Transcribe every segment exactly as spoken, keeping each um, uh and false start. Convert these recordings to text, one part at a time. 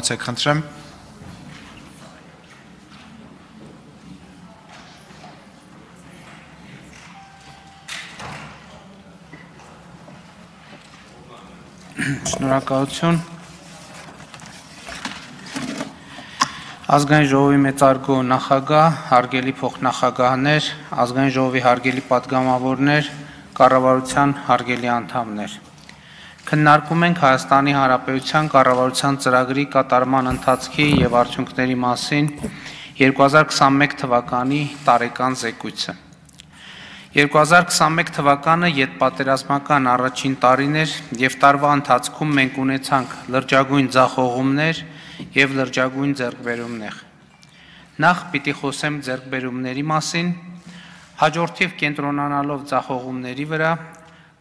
Ցեք խնդրեմ։ Շնորհակալություն։ Ազգային ժողովի մեծարգո նախագահ, հարգելի փոխնախագահներ, ազգային ժողովի հարգելի պատգամավորներ, կառավարության հարգելի անդամներ։ Քննարկում ենք Հայաստանի Հանրապետության կառավարության ծրագրի կատարման ընթացքի եւ արդյունքների մասին երկու հազար քսանմեկ թվականի տարեկան զեկույցը։ երկու հազար քսանմեկ թվականը ետպատերազմական առաջին տարին էր եւ տարվա ընթացքում մենք ունեցանք լրջագույն ձախողումներ եւ լրջագույն ձեռքբերումներ։ Նախ պիտի խոսեմ ձեռքբերումների մասին, հաջորդիվ կենտրոնանալով ձախողումների վրա,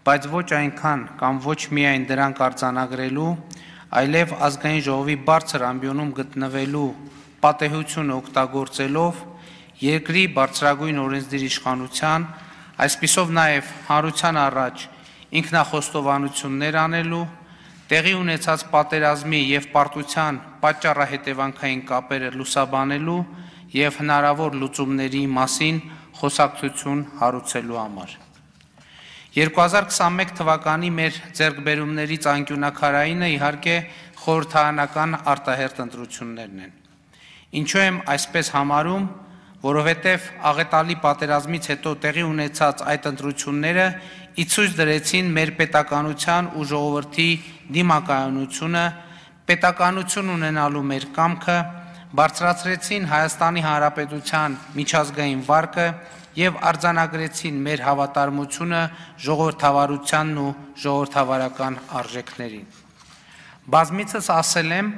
բայց ոչ այնքան կամ ոչ միայն դրանք արձանագրելու, այլև ազգային ժողովի բարձր ամբիոնում գտնվելու պատեհությունը օգտագործելով երկրի բարձրագույն օրենսդիր իշխանության, այսպիսով նաև հանրության առաջ ինքնախոստովանություններ անելու, տեղի ունեցած պատերազմի եւ պարտության պատճառահետևանքային կապերը լուսաբանելու եւ հնարավոր լուծումների մասին խոսակցություն հարուցելու համար։ երկու հազար քսանմեկ թվականի մեր ձեռքբերումներից անկյունակարայինը իհարկե խորհրդարանական արտահերթ ընտրություններն են։ Ինչու եմ այսպես համարում, որովհետև աղետալի պատերազմից հետո տեղի ունեցած այդ ընտրությունները իցույց դրեցին մեր պետականության ու ժողովրդի դիմակայունությունը, պետականություն ունենալու մեր կամքը, բարձրացրեցին Հայաստանի Հանրապետության միջազգային վարկը եւ արձանագրեցին մեր հավատարմությունը ժողովրդավարությանն ու ժողովրդավարական արժեքներին։ Բազմիցս ասել եմ,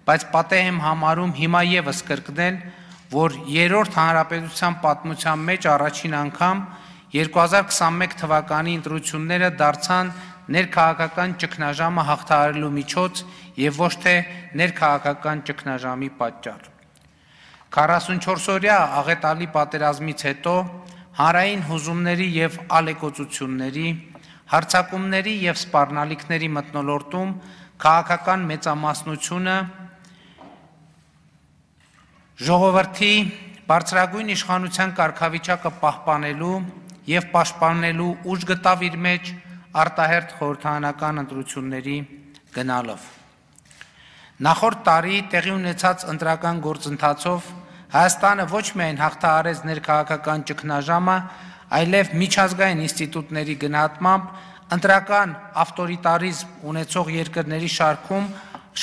բայց պատեհ եմ համարում հիմա եւս կրկնել, որ երրորդ հանրապետության պատմության մեջ առաջին անգամ երկու հազար քսանմեկ թվականի ընտրությունները դարձան ներքաղաքական ճգնաժամը հաղթահարելու միջոց եւ ոչ թե ներքաղաքական ճգնաժամի պատճառ։ քառասունչորս օրյա աղետալի պատերազմից հետո հանրային հուզումների եւ ալեկոծությունների, հարձակումների եւ սպառնալիքների մթնոլորտում քաղաքական մեծամասնությունը ժողովրդի բարձրագույն իշխանության կարգավիճակը պահպանելու եւ պաշտպանելու ուժ գտավ իր մեջ արտահերթ խորհրդարանական ընտրությունների գնալով։ Նախորդ տարի տեղի ունեցած ընտրական գործընթացով Հայաստանը ոչ միայն հաղթահարեց ներքաղաքական ճգնաժամը, այլև միջազգային ինստիտուտների գնահատմամբ ընտրական ավտորիտարիզմ ունեցող երկրների շարքում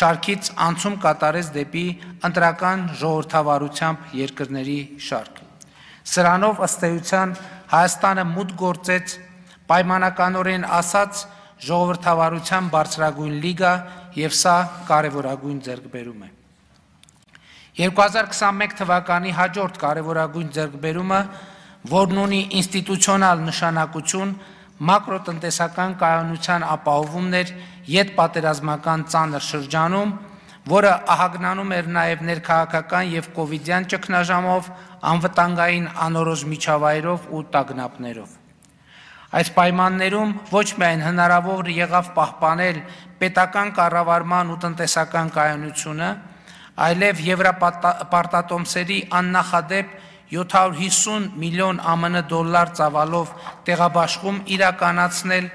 շարքից անցում կատարեց դեպի ընտրական ժողովրդավարությամբ երկրների շարք։ Սրանով ըստ էության Հայաստանը մուտք գործեց պայմանականորեն ասած ժողովրդավարության բարձրագույն լիգա եւ սա կարևորագույն ձեռքբերում է։ երկու հազար քսանմեկ թվականի հաջորդ կարևորագույն ձեռքբերումը, որն ունի ինստիտուցիոնալ նշանակություն, մակրոտնտեսական կայունության ապահովումն էր ետպատերազմական ծանր շրջանում, որը ահագնանում էր նաև ներքաղաքական եւ կովիդյան ճգնաժամով, անվտանգային անորոշ միջավայրով ու տագնապներով։ Այս պայմաններում ոչ միայն հնարավոր եղավ պահպանել պետական կառավարման ու տնտեսական կայունությունը, այլև եվրոպարտատոմսերի աննախադեպ յոթ հարյուր հիսուն միլիոն ԱՄՆ դոլար ծավալով տեղաբաշխում իրականացնել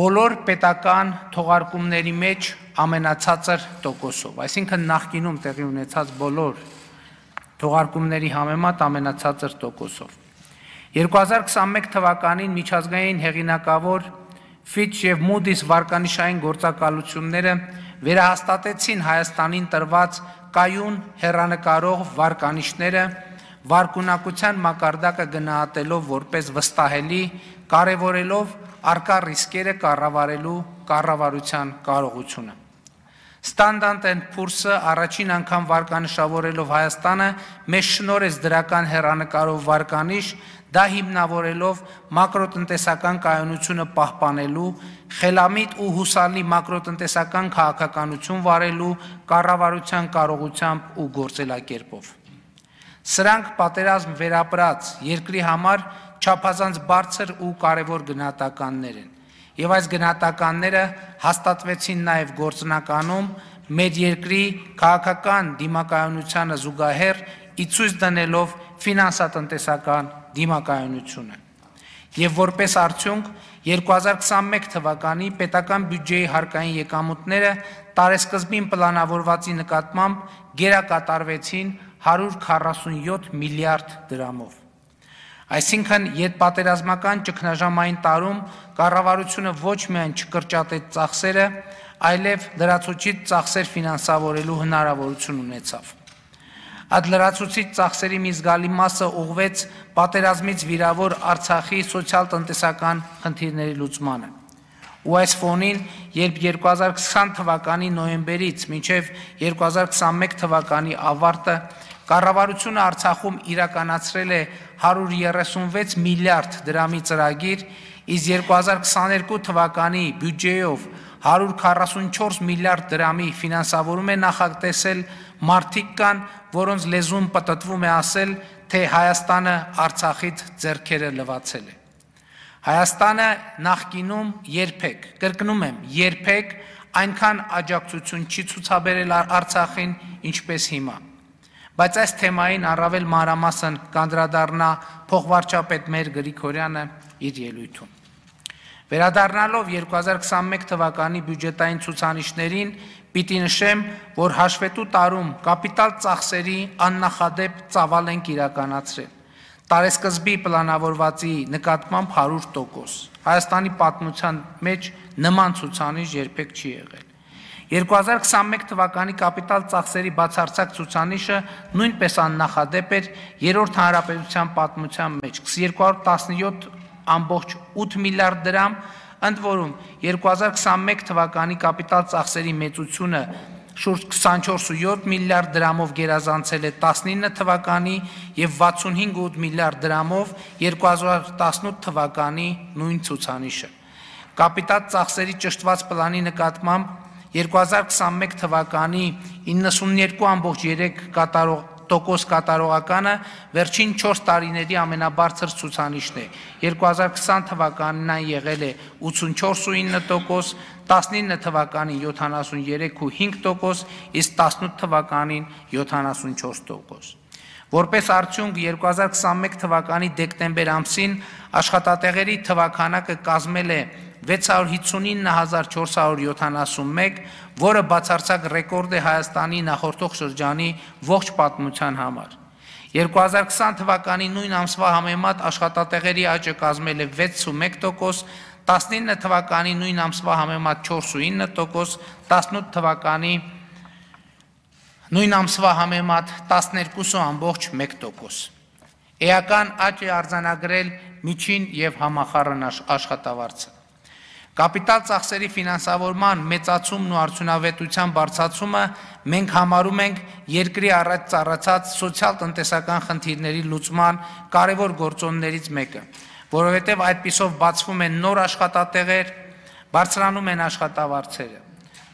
բոլոր պետական թողարկումների մեջ ամենացածր տոկոսով, այսինքն նախկինում տեղի ունեցած բոլոր թողարկումների համեմատ ամենացածր տոկոսով։ երկու հազար քսանմեկ թվականին միջազգային հեղինակավոր Fitch եւ Moody's վարկանիշային գործակալությունները վերահաստատեցին Հայաստանին տրված կայուն հեռանկարող վարկանիշները, վարկունակության մակարդակը գնահատելով որպես վստահելի, կարևորելով առկա ռիսկերը կառավարելու կառավարության կարողությունը։ Standard and Poor's-ը առաջին անգամ վարկանշավորելով Հայաստանը մեզ շնորհեց դրական հեռանկարով վարկանիշ, դա հիմնավորելով մակրոտնտեսական կայունությունը պահպանելու, խելամիտ ու հուսալի մակրոտնտեսական քաղաքականություն վարելու կառավարության կարողությամբ ու գործելակերպով։ Սրանք պատերազմ վերապրած երկրի համար չափազանց բարձր ու կարևոր գնահատականներ են, եւ այս գնահատականները հաստատվեցին նաեւ գործնականում մեր երկրի քաղաքական դիմակայունությանը զուգահեռ ի ցույց դնելով ֆինանսատնտեսական դիմակայունությունը։ Եվ որպես արդյունք երկու հազար քսանմեկ թվականի պետական բյուջեի հարկային եկամուտները տարեսկզբին պլանավորվածի նկատմամբ գերակատարվեցին հարյուր քառասունյոթ միլիարդ դրամով։ Այսինքն ետպատերազմական ճգնաժամային տարում կառավարությունը ոչ միայն չկրճատեց ծախսերը, այլև լրացուցիչ ծախսեր ֆինանսավորելու հնարավորություն ունեցավ։ Այդ լրացուցիչ ծախսերի մի զգալի մասը ուղղվեց պատերազմից վիրավոր Արցախի սոցիալ-տնտեսական խնդիրների լուծմանը։ Ու այս ֆոնին, երբ երկու հազար քսան թվականի նոյեմբերից մինչև երկու հազար քսանմեկ թվականի ավարտը կառավարությունը Արցախում իրականացրել է հարյուր երեսունվեց միլիարդ դրամի ծրագիր, իսկ երկու հազար քսաներկու թվականի բյուջեով հարյուր քառասունչորս միլիարդ դրամի ֆինանսավորում է նախատեսել, մարդիկ կան, որոնց լեզուն պտտվում է ասել, թե Հայաստանը Արցախից ձեռքերը լվացել է։ Հայաստանը նախկինում երբեք, կրկնում եմ, երբեք այնքան աջակցություն չի ցուցաբերել Արցախին, ինչպես հիմա։ Բայց այս թեմային առավել մանրամասն կանդրադառնա փոխվարչապետ Մեր Գրիգորյանը իր ելույթում։ Վերադառնալով երկու հազար քսանմեկ թվականի բյուջետային ցուցանիշներին, պիտի նշեմ, որ հաշվետու տարում կապիտալ ծախսերի աննախադեպ ծավալ ենք իրականացրել։ Տարեսկզբի պլանավորվածի նկատմամբ հարյուր տոկոս։ Հայաստանի պատմության մեջ նման ցուցանիշ երբեք չի եղել։ երկու հազար քսանմեկ թվականի կապիտալ ծախսերի բացարձակ ցուցանիշը նույնպես աննախադեպ էր երրորդ հանրապետության պատմության մեջ երկու հարյուր տասնյոթ ամբողջ ութ միլիարդ դրամ, ընդ որում երկու հազար քսանմեկ թվականի կապիտալ ծախսերի մեծությունը շուրջ քսանչորս միլիարդ դրամով գերազանցել է տասնինը թվականի եւ վաթսունհինգ միլիարդ դրամով երկու հազար տասնութ թվականի նույն ցուցանիշը։ Կապիտալ ծախսերի ճշտված պլանի նկատմամբ երկու հազար քսանմեկ թվականի իննսուններկու ամբողջ երեք տոկոս կատարողականը վերջին չորս տարիների ամենաբարձր ցուցանիշն է։ երկու հազար քսան թվականին այն եղել է ութսունչորս ու ինը տոկոս, տասնինը թվականին յոթանասուներեք ու հինգ տոկոս, իսկ տասնութ թվականին յոթանասունչորս տոկոս։ Որպես արդյունք երկու հազար քսանմեկ թվականի դեկտեմբեր ամսին աշխատատեղերի թվաքանակը կազմել է վեց հարյուր հիսունինը հազար չորս հարյուր յոթանասունմեկ, որը բացարձակ ռեկորդ է Հայաստանի նախորդող շրջանի ողջ պատմության համար։ երկու հազար քսան թվականի նույն ամսվա համեմատ աշխատատեղերի աճը կազմել է վեցսունմեկ տոկոս, տասնինը թվականի նույն ամսվա համեմատ չորս ու ինը տոկոս, տասնութ թվականի նույն ամսվա համեմատ տասներկու ամբողջ մեկ տոկոս։ Էական աճ է արձանագրել միջին եւ համախառն աշխատավարձը։ Կապիտալ ծախսերի ֆինանսավորման մեծացումն ու արդյունավետության բարձրացումը մենք համարում ենք երկրի առաջ ծառացած սոցիալ-տնտեսական խնդիրների լուծման կարևոր գործոններից մեկը, որովհետև այդպիսով բացվում են նոր աշխատատեղեր, բարձրանում են աշխատավարձերը։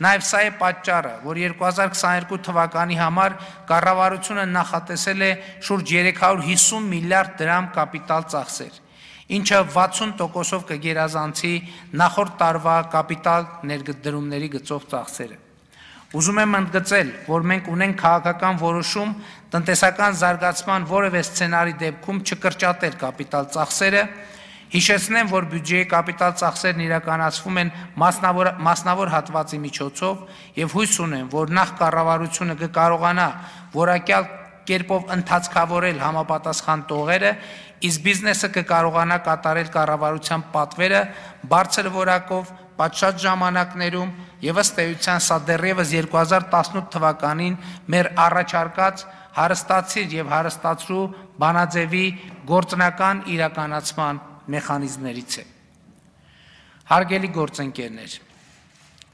Նաև սա է պատճառը, որ երկու հազար քսաներկու թվականի համար կառավարությունը նախատեսել է շուրջ երեք հարյուր հիսուն միլիարդ դրամ կապիտալ ծախսեր, ինչը վաթսուն տոկոսով կգերազանցի նախորդ տարվա կապիտալ ներդրումների գծով ծախսերը։ Ուզում եմ ընդգծել, որ մենք ունենք քաղաքական որոշում տնտեսական զարգացման որևէ սցենարի դեպքում չկրճատել կապիտալ ծախսերը։ Հիշեցնեմ, որ բյուջեի կապիտալ ծախսերն իրականացվում են մասնավոր, մասնավոր հատվածի միջոցով եւ հույս ունեմ, որ նախ կառավարությունը կկարողանա որակյալ կերպով ընթացքավորել համապատասխան տողերը, իսկ բիզնեսը կկարողանա կատարել կառավարության պատվերը բարձր որակով, պատշաճ ժամանակներում եւ ըստ էության սա դեռևս երկու հազար տասնութ թվականին մեր առաջարկած հարստացիր եւ հարստացրու բանաձևի գործնական իրականացման մեխանիզմներից է։ Հարգելի գործընկերներ,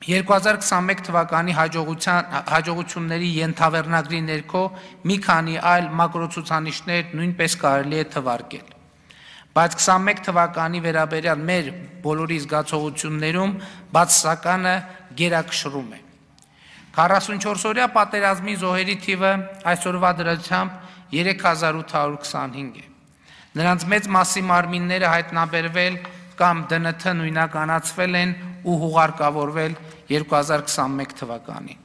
երկու հազար քսանմեկ թվականի հաջողությունների ենթավերնագրի ներքո մի քանի այլ մակրոցուցանիշներ նույնպես կարելի է թվարկել։ Բայց քսանմեկ թվականի վերաբերյալ մեր բոլորի զգացողություններում բացասականը գերակշռում է։ քառասունչորսօրյա պատերազմի զոհերի թիվը այսօրվա դրությամբ երեք հազար ութ հարյուր քսանհինգ է։ Նրանց մեծ մասի մարմինները հայտնաբերվել կամ դը ն թ նույնականացվել են ու հուղարկավորվել երկու հազար քսանմեկ թվականին։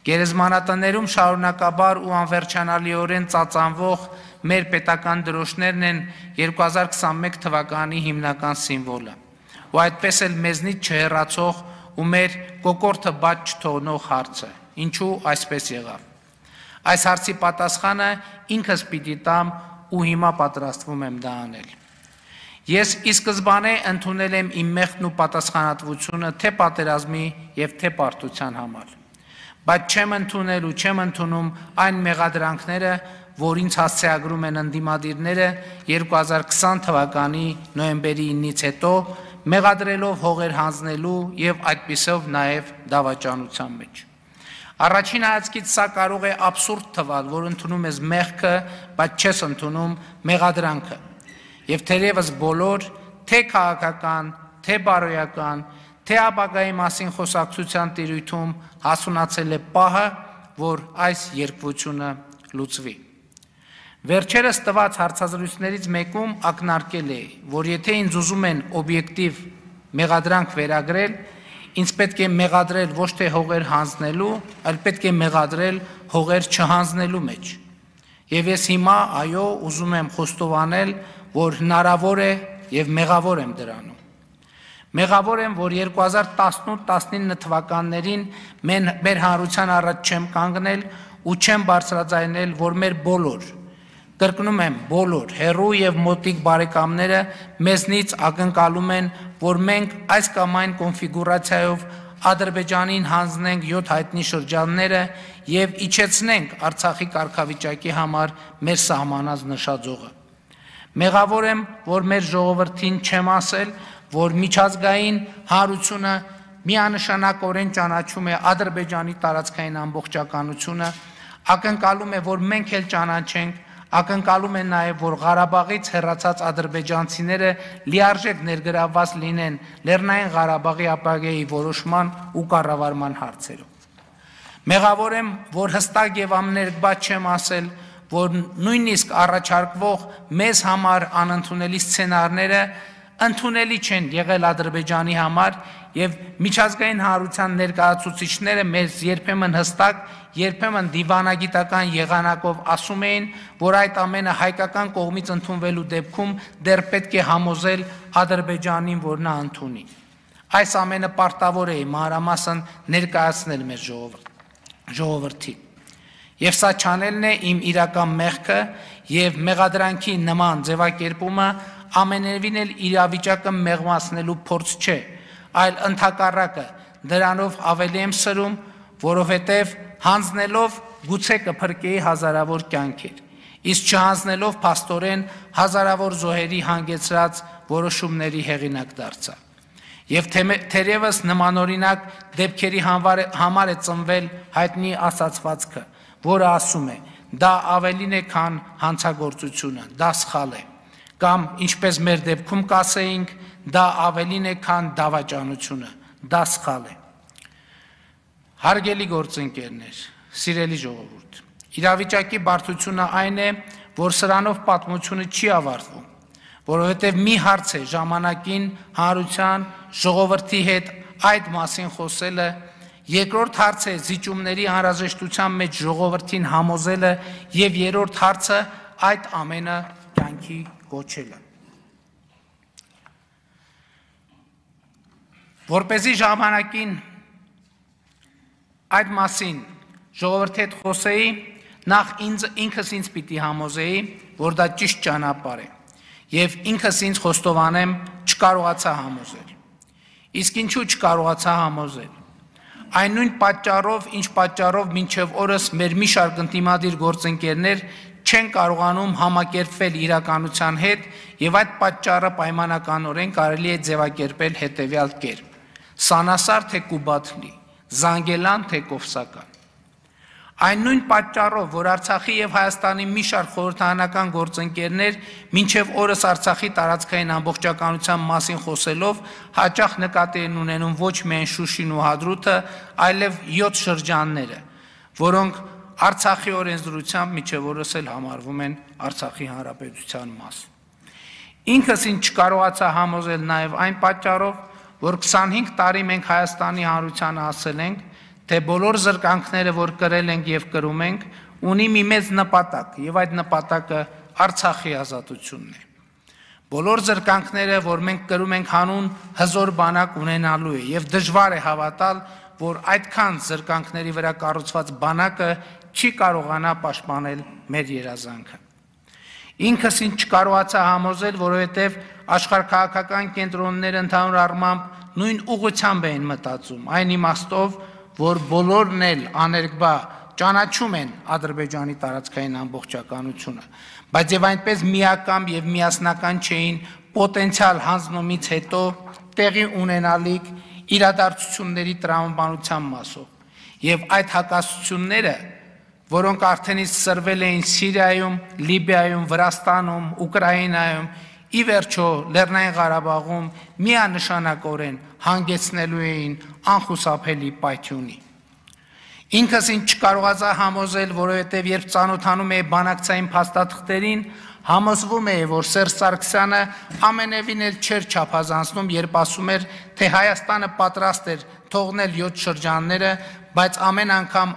Գերեզմանատներում շարունակաբար ու անվերջանալիորեն ծածանվող մեր պետական դրոշներն են երկու հազար քսանմեկ թվականի հիմնական սիմվոլը, ու այդպես էլ մեզնից չհեռացող ու մեր կոկորդը բաց չթողնող հարցը, ինչու այսպես եղավ։ Այս հարցի պատասխանը ինքս պիտի տամ ու հիմա պատրաստվում եմ դա անել։ Ես ի սկզբանե ընդունել եմ իմ մեղքն ու պատասխանատվությունը թե պատերազմի և թե պարտության համար, բայց չեմ ընդունել ու չեմ ընդունում այն մեղադրանքները, որ ինձ հասցեագրում են ընդդիմադիրները երկու հազար քսան թվականի նոյեմբերի իննից հետո, մեղադրելով հողեր հանձնելու և այդպիսով նաև դավաճանության մեջ։ Առաջին հայացքից սա կարող է աբսուրդ թվալ, որ ընդունում ես մեղքը, բայց չես ընդունում մեղադրանքը։ Եվ թերևս բոլոր, թե քաղաքական, թե բարոյական, թե ապագայի մասին խոսակցության տիրույթում հասունացել է պահը, որ այս երկվությունը լուծվի։ Վերջերս տված հարցազրույցներից մեկում ակնարկել է, որ եթե ինձ ուզում են օբյեկտիվ մեղադրանք վերագրել, ինձ պետք է մեղադրել ոչ թե հողեր հանձնելու, այլ պետք է մեղադրել հողեր չհանձնելու մեջ։ Եվ ես հիմա, այո, ուզում եմ խոստովանել, որ հնարավոր է և մեղավոր եմ դրանում։ Մեղավոր եմ, որ երկու հազար տասնութ տասնինը թվականներին մեր հանրության առաջ չեմ կանգնել ու չեմ բարձրաձայնել, որ մեր բոլոր, կրկնում եմ, բոլոր հեռու և մոտիկ բարեկամները մեզնից ակնկալում են, որ մենք այս կամ այն կոնֆիգուրացիայով Ադրբեջանին հանձնենք յոթ հայտնի շրջանները և իջեցնենք Արցախի կարգավիճակի համար մեր սահմանած նշաձողը։ Մեղավոր եմ, որ մեր ժողովրդին չեմ ասել, որ միջազգային հանրությունը միանշանակորեն ճանաչում է Ադրբեջանի տարածքային ամբողջականությունը, ակնկալում է, որ մենք էլ ճանաչենք, ակնկալում է նաև, որ Ղարաբաղից հեռացած ադրբեջանցիները լիարժեք ներգրավված լինեն Լեռնային Ղարաբաղի ապագայի որոշման ու կառավարման հարցերում։ Մեղավոր եմ, որ հստակ և ամներկբա չեմ ասել, որ նույնիսկ առաջարկվող մեզ համար անընդունելի սցենարները ընդունելի չեն եղել Ադրբեջանի համար և միջազգային հանրության ներկայացուցիչները մեզ երբեմն հստակ, երբեմն դիվանագիտական եղանակով ասում էին, որ այդ ամենը հայկական կողմից ընդունվելու դեպքում դեռ պետք է համոզել Ադրբեջանին, որ նա ընդունի։ Այս ամենը պարտավոր է մանրամասն ներկայացնել մեր ժողովրդին։ Եվ սա չանելն է իմ իրական մեղքը և մեղադրանքի նման ձևակերպումը ամենևին էլ իրավիճակը մեղմացնելու փորձ չէ, այլ ընդհակառակը դրանով ավելի եմ սրում, որովհետև հանձնելով գուցե կփրկեի հազարավոր կյանքեր, իսկ չհանձնելով փաստորեն հազարավոր զոհերի հանգեցրած որոշումների հեղինակ դարձա։ Եվ թերևս նմանօրինակ դեպքերի համար է ծնվել հայտնի ասացվածքը, որը ասում է, դա ավելին է, քան հանցագործությունը, դա սխալ է, կամ ինչպես մեր դեպքում կասեինք, դա ավելին է, քան դավաճանությունը, դա սխալ է։ Հարգելի գործընկերներ, սիրելի ժողովուրդ, իրավիճակի բարդությունը այն է, որ սրանով պատմությունը չի ավարտվում, որովհետև մի հարց է ժամանակին հանրության ժողովրդի հետ այդ մասին խոսելը, երկրորդ հարց է զիջումների անհրաժեշտության մեջ ժողովրդին համոզելը և երրորդ հարցը այդ ամենը կյանքի կոչելը։ Որպեսզի ժամանակին այդ մասին ժողովրդի հետ խոսեի, նախ ինքս ինձ պիտի համոզեի, որ դա ճիշտ ճանապարհ է, և ինքս ինձ խոստովանեմ չկարողացա համոզել։ Իսկ ինչու չկարողացա համոզել։ Այն նույն պատճառով, ինչ պատճառով մինչև օրս մեր մի շարք ընդդիմադիր գործընկերներ չեն կարողանում համակերպվել իրականության հետ և այդ պատճառը պայմանականորեն կարելի է ձևակերպել հետևյալ կերպ. Սանասար թե Կուբաթլի, Զանգելան թե Կովսական։ Այն նույն պատճառով, որ Արցախի և Հայաստանի մի շարք խորհրդարանական գործընկերներ մինչև օրս Արցախի տարածքային ամբողջականության մասին խոսելով հաճախ նկատի են ունենում ոչ միայն Շուշին ու Հադրութը, այլև յոթ շրջանները, որոնք Արցախի օրենսդրությամբ մինչև օրս էլ համարվում են Արցախի հանրապետության մաս։ Ինքս ինձ չկարողացա համոզել նաև այն պատճառով, որ քսանհինգ տարի մենք Հայաստանի հանրությանը ասել ենք, թե բոլոր զրկանքները, որ կրել ենք եւ կրում ենք, ունի մի մեծ նպատակ, եւ այդ նպատակը Արցախի ազատությունն է։ Բոլոր զրկանքները, որ մենք կրում ենք, հանուն հզոր բանակ ունենալու է, եւ դժվար է հավատալ, որ այդքան զրկանքների վրա կառուցված բանակը չի կարողանա պաշտպանել մեր երազանքը։ Ինքս ինձ չկարողացա համոզել, որովհետև աշխարհաքաղաքական կենտրոնները ընդհանուր առմամբ նույն ուղղությամբ էին մտածում, այն իմաստով, որ բոլորն էլ աներկբա ճանաչում են Ադրբեջանի տարածքային ամբողջականությունը, բայց եւ այնպես միակամ եւ միասնական չէին պոտենցիալ հանձնումից հետո տեղի ունենալիք իրադարձությունների տրամաբանության մասով եւ այդ հակասությունները, որոնք արդեն իսկ սրվել էին Սիրիայում, Լիբիայում, Վրաստանում, Ուկրաինայում, ի վերջո Լեռնային Ղարաբաղում միանշանակորեն հանգեցնելու էին անխուսափելի պայթյունի։ Ինքս ինձ չկարողացա համոզել, որովհետև երբ ծանոթանում էի բանակցային փաստաթղթերին, համոզվում էի, որ Սերժ Սարգսյանը ամենևին էլ չէր չափազանցնում, երբ ասում էր, թե Հայաստանը պատրաստ էր թողնել յոթ շրջանները, բայց ամեն անգամ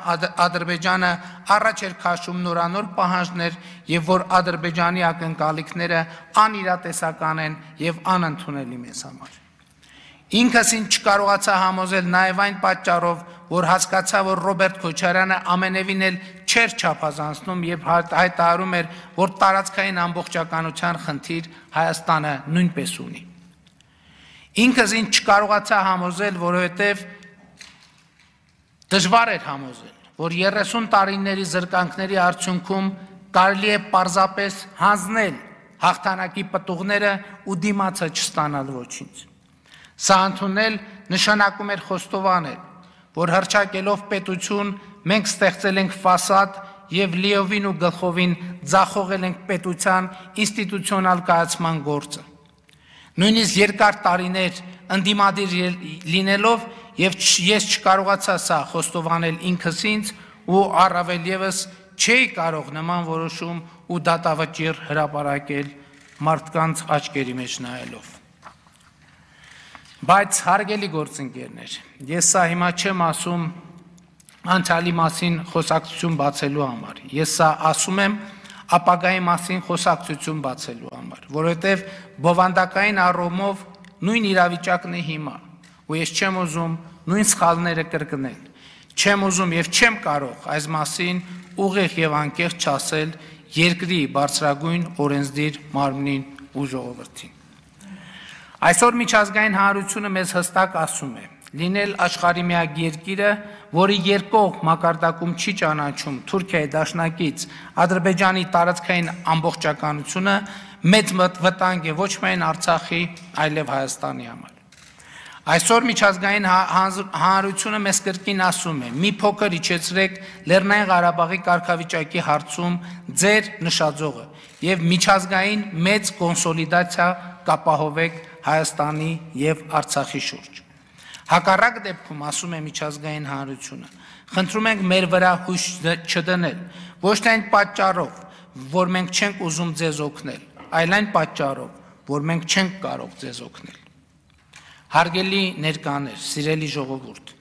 Ադրբեջանը առաջ էր քաշում նորանոր պահանջներ եւ որ Ադրբեջանի ակնկալիքները անիրատեսական են եւ անընդունելի մեզ համար։ Ինքս ինձ չկարողացա համոզել նաեւ այն պատճառով, որ հասկացա, որ Ռոբերտ Քոչարյանը ամենևին էլ չէր չափազանցնում եւ հայտարարում էր, որ տարածքային ամբողջականության խնդիր Հայաստանը նույնպես ունի։ Ինքս ինձ չկարողացա համոզել, որովհետեւ դժվար էր համոզել, որ երեսուն տարիների զրկանքների արդյունքում կարելի է պարզապես հանձնել հաղթանակի պտուղները ու դիմացը չստանալ ոչինչ։ Սա ընդունել նշանակում էր խոստովանել, որ հռչակելով պետություն մենք ստեղծել ենք ֆասադ եւ լիովին ու գլխովին ձախողել ենք պետության ինստիտուցիոնալ կայացման գործը։ Նույնիսկ երկար տարիներ ընդդիմադիր լինելով եւ ես չկարողացա սա խոստովանել ինքս ինձ ու առավել եւս չէի կարող նման որոշում ու դատավճիռ հրապարակել մարդկանց աչքերի մեջ նայելով։ Բայց հարգելի գործընկերներ, ես սա հիմա չեմ ասում անցյալի մասին խոսակցություն բացելու համար, ես սա ասում եմ ապագայի մասին խոսակցություն բացելու համար, որովհետև բովանդակային առումով նույն իրավիճակն է հիմա, ու ես չեմ ուզում նույն սխալները կրկնել, չեմ ուզում եւ չեմ կարող այս մասին ուղիղ եւ անկեղծ չասել երկրի բարձրագույն օրենսդիր մարմնին ու ժողովրդին։ Այսօր միջազգային հանրությունը մեզ հստակ ասում է, լինել աշխարհի միակ երկիրը, որի երկկողմ մակարդակում չի ճանաչում Թուրքիայի դաշնակից Ադրբեջանի տարածքային ամբողջականությունը, մեծ վտանգ է ոչ միայն Արցախի, այլև Հայաստանի համար։ Այսօր միջազգային հանրությունը մեզ կրկին ասում է, մի փոքր իջեցրեք Լեռնային Ղարաբաղի կարգավիճակի հարցում ձեր նշաձողը եւ միջազգային մեծ կոնսոլիդացիա կապահովեք Հայաստանի եւ Արցախի շուրջ։ Հակառակ դեպքում, ասում է միջազգային հանրությունը, խնդրում ենք մեր վրա հույս չդնել, ոչ թե այն պատճառով, որ մենք չենք ուզում ձեզ օգնել, այլ այն պատճառով, որ մենք չենք կարող ձեզ օգնել։ Հարգելի ներկաներ, սիրելի ժողովուրդ,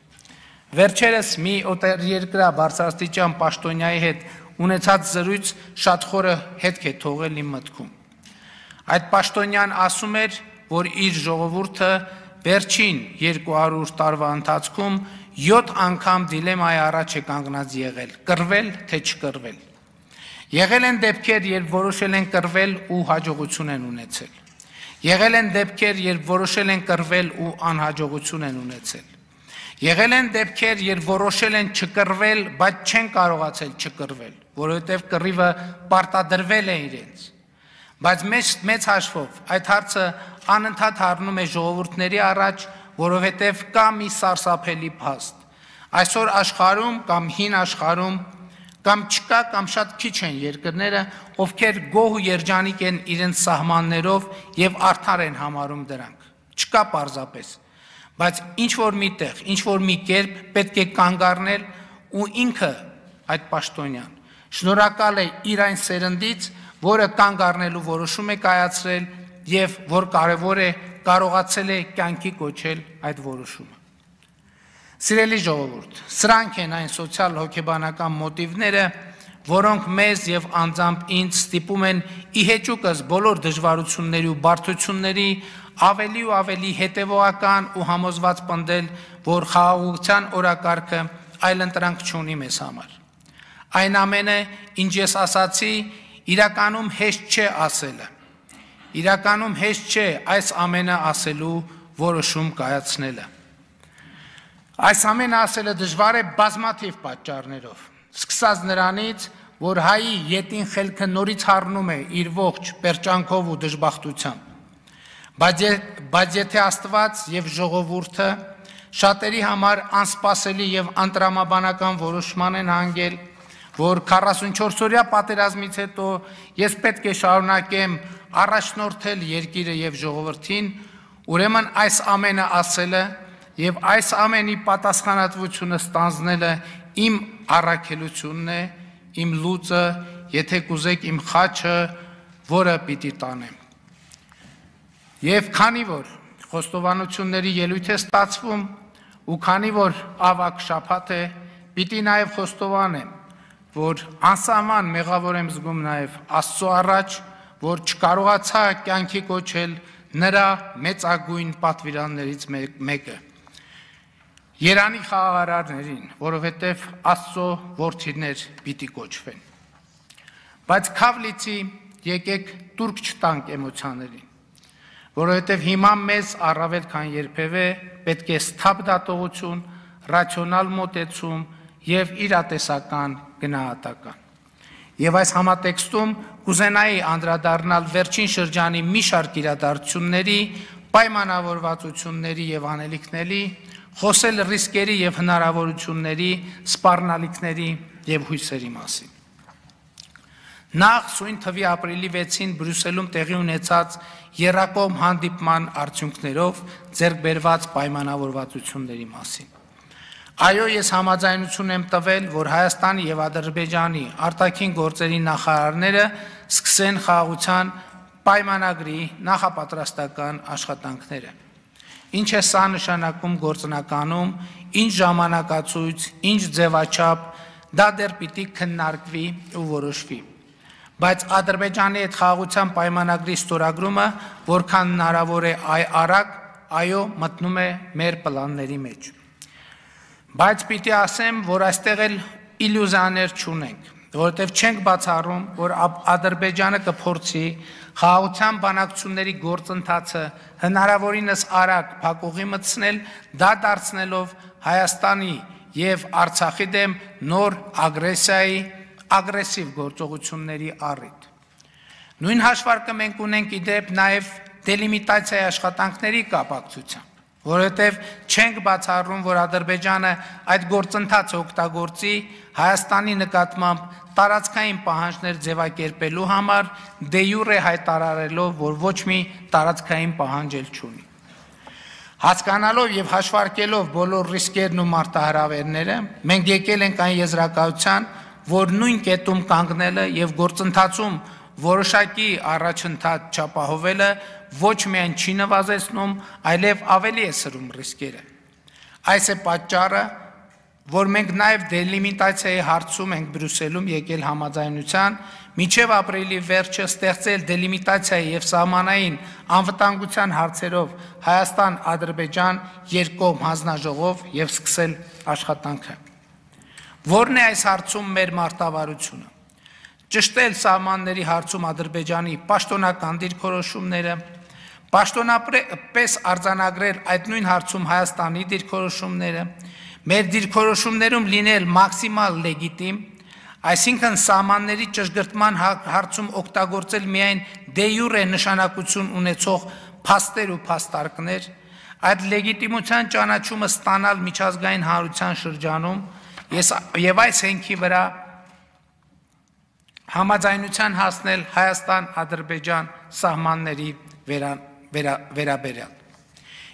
վերջերս մի օտարերկրյա բարձրաստիճան պաշտոնյայի հետ ունեցած զրույց շատ խորը հետք է թողել իմ մտքում։ Այդ պաշտոնյան ասում էր, որ իր ժողովուրդը վերջին երկու հարյուր տարվա ընթացքում յոթ անգամ դիլեմայի առաջ է կանգնած եղել, կռվել թե չկռվել։ Եղել են դեպքեր, երբ որոշել են կռվել ու հաջողություն են ունեցել։ Եղել են դեպքեր, երբ որոշել են կռվել ու անհաջողություն են ունեցել։ Եղել են դեպքեր, երբ որոշել են չկռվել, բայց չեն կարողացել չկռվել, որովհետև կռիվը պարտադրվել է իրենց։ Բայց մեծ հաշվով այդ հարցը անընդհատ առնում է ժողովուրդների առաջ, որովհետև կա մի սարսափելի փաստ։ Այսօր աշխարհում կամ հին աշխարհում կամ չկա կամ շատ քիչ են երկրները, ովքեր գոհ ու երջանիկ են իրենց սահմաններով եւ արդար են համարում դրանք։ Չկա պարզապես։ Բայց ինչ որ միտեղ, ինչ որ մի կերպ պետք է կանգ առնել ու ինքը այդ պաշտոնյան շնորհակալ է իր այն սերնդից, որը կանգ առնելու որոշում է կայացրել եւ որ կարեւոր է կարողացել է կյանքի կոչել այդ որոշումը։ Սիրելի ժողովուրդ, սրանք են այն սոցիալ հոգեբանական մոտիվները, որոնք մեզ եւ անձամբ ինձ ստիպում են ի հեճուկս բոլոր դժվարությունների ու բարդությունների ավելի ու ավելի հետևողական ու համոզված պնդել, որ խաղաղության օրակարգը այլընտրանք չունի մեզ համար։ Այն ամենը, ինչ ես ասացի, իրականում հեշտ չէ ասելը։ Իրականում հեշտ չէ այս ամենը ասելու որոշում կայացնելը։ Այս ամենը ասելը դժվար է բազմաթիվ պատճառներով, սկսած նրանից, որ հայի ետին խելքը նորից հառնում է իր ողջ պերճանքով ու դժբախտությամբ, բայց եթե Աստված եւ ժողովուրդը շատերի համար անսպասելի եւ անտրամաբանական որոշման են հանգել, որ քառասունչորս-օրյա պատերազմից հետո ես պետք է շարունակեմ առաջնորդել երկիրը եւ ժողովրդին, ուրեմն այս ամենը ասելը եւ այս ամենի պատասխանատվությունը ստանձնելը իմ առաքելությունն է, իմ լուծը, եթե կուզեք իմ խաչը, որը պիտի տանեմ։ Եվ քանի որ խոստովանությունների ելույթ է ստացվում ու քանի որ ավակ շաբաթ է, պիտի նաև խոստովանեմ, որ անսահման մեղավոր եմ զգում նաև Աստծո առաջ, որ չկարողացա կյանքի կոչել նրա մեծագույն պատվիրաններից մեկը։ Երանի խաղաղարարներին, որովհետև Աստծո որդիներ պիտի կոչվեն։ Բայց քավլիցի եկեք տուրք չտանք էմոցիաներին, որովհետև հիմա մեզ առավել քան երբևէ պետք է սթափ դատողություն, ռացիոնալ մոտեցում եւ իրատեսական գնահատական։ Եվ այս համատեքստում կուզենայի անդրադառնալ վերջին շրջանի մի շարք իրադարձությունների, պայմանավորվածությունների եւ անելիքների, խոսել ռիսկերի եւ հնարավորությունների, սպառնալիքների եւ հույսերի մասին։ Նախ սույն թվի ապրիլի վեցին Բրյուսելում տեղի ունեցած եռակողմ հանդիպման արդյունքներով ձեռք բերված պայմանավորվածությունների մասին։ Այո, ես համաձայնություն եմ տվել, որ Հայաստանի եւ Ադրբեջանի արտաքին գործերի նախարարները սկսեն խաղաղության պայմանագրի նախապատրաստական աշխատանքները։ Ինչ է սա նշանակում գործնականում, ինչ ժամանակացույց, ինչ ձևաչափ, դա դեռ պիտի քննարկվի ու որոշվի։ Բայց Ադրբեջանի հետ խաղաղության պայմանագրի ստորագրումը, որքան հնարավոր է արագ, այո, մտնում է մեր պլանների մեջ։ Բայց պիտի ասեմ, որ այստեղ էլ իլյուզիաներ չունենք, որովհետև չենք բացառում, որ Ադրբեջանը կփորձի խաղաղության բանակցությունների գործընթացը հնարավորինս արագ փակուղի մտցնել, դա դարձնելով Հայաստանի եւ Արցախի դեմ նոր ագրեսիայի, ագրեսիվ գործողությունների առիթ։ Նույն հաշվարկը մենք ունենք իդեպ նաեւ դելիմիտացիայի աշխատանքների կապակցությամբ, որովհետև չենք բացառում, որ Ադրբեջանը այդ գործընթացը օգտագործի Հայաստանի նկատմամբ տարածքային պահանջներ ձևակերպելու համար, դե յուրե հայտարարելով, որ ոչ մի տարածքային պահանջ էլ չունի։ Հասկանալով եւ հաշվարկելով բոլոր ռիսկերն ու մարտահրավերները, մենք եկել ենք այն եզրակացության, որ նույն կետում կանգնելը եւ գործընթացում որոշակի առաջընթաց չապահովելը ոչ միայն չի նվազեցնում, այլև ավելի է սրում ռիսկերը։ Այս է պատճառը, որ մենք նաև դելիմիտացիայի հարցում ենք Բրյուսելում եկել համաձայնության, մինչև ապրիլի վերջը ստեղծել դելիմիտացիայի եւ սահմանային անվտանգության հարցերով Հայաստան-Ադրբեջան երկկողմ հանձնաժողով եւ սկսել աշխատանքը։ Որն է այս հարցում մեր մարտավարությունը։ Ճշտել սահմանների հարցում Ադրբեջանի պաշտոնական դիրքորոշումները, պաշտոնապես արձանագրել այդ նույն հարցում Հայաստանի դիրքորոշումները, մեր դիրքորոշումներում լինել մաքսիմալ լեգիտիմ, այսինքն սահմանների ճշգրտման հարցում օգտագործել միայն դե յուրե նշանակություն ունեցող փաստեր ու փաստարկներ, այդ լեգիտիմության ճանաչումը ստանալ միջազգային հանրության շրջանում եւ այս հենքի վրա համաձայնության հասնել Հայաստան-Ադրբեջան սահմանների վերաբերյալ։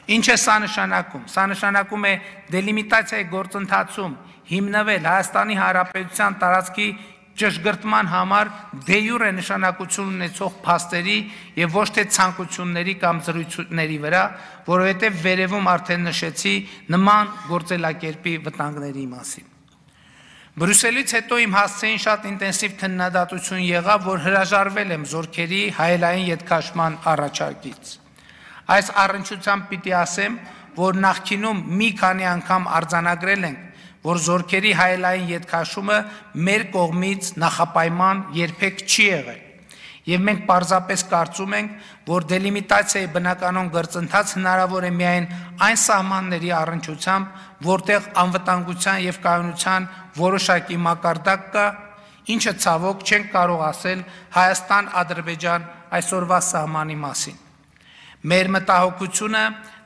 Ինչ է սա նշանակում։ Սա նշանակում է դելիմիտացիայի գործընթացում հիմնվել Հայաստանի Հանրապետության տարածքի ճշգրտման համար դե յուրե նշանակություն ունեցող փաստերի եւ ոչ թե ցանկությունների կամ զրույցների վրա, որովհետեւ վերևում արդեն նշեցի նման գործելակերպի վտանգների մասին։ Բրյուսելից հետո իմ հասցեին շատ ինտենսիվ քննադատություն եղավ, որ հրաժարվել եմ զորքերի հայելային ետքաշման առաջարկից։ Այս առնչությամբ պիտի ասեմ, որ նախկինում մի քանի անգամ արձանագրել ենք, որ զորքերի հայելային ետքաշումը մեր կողմից նախապայման երբեք չի եղել, եւ մենք պարզապես կարծում ենք, որ դելիմիտացիայի բնականon գործընթաց հնարավոր է միայն այն սահմանների առնչությամբ, որտեղ անվտանգության եւ կայունության որոշակի մակարդակ կա, ինչը ցավոք չենք կարող ասել Հայաստան-Ադրբեջան այսօրվա սահմանի մասին։ Մեր մտահոգությունը,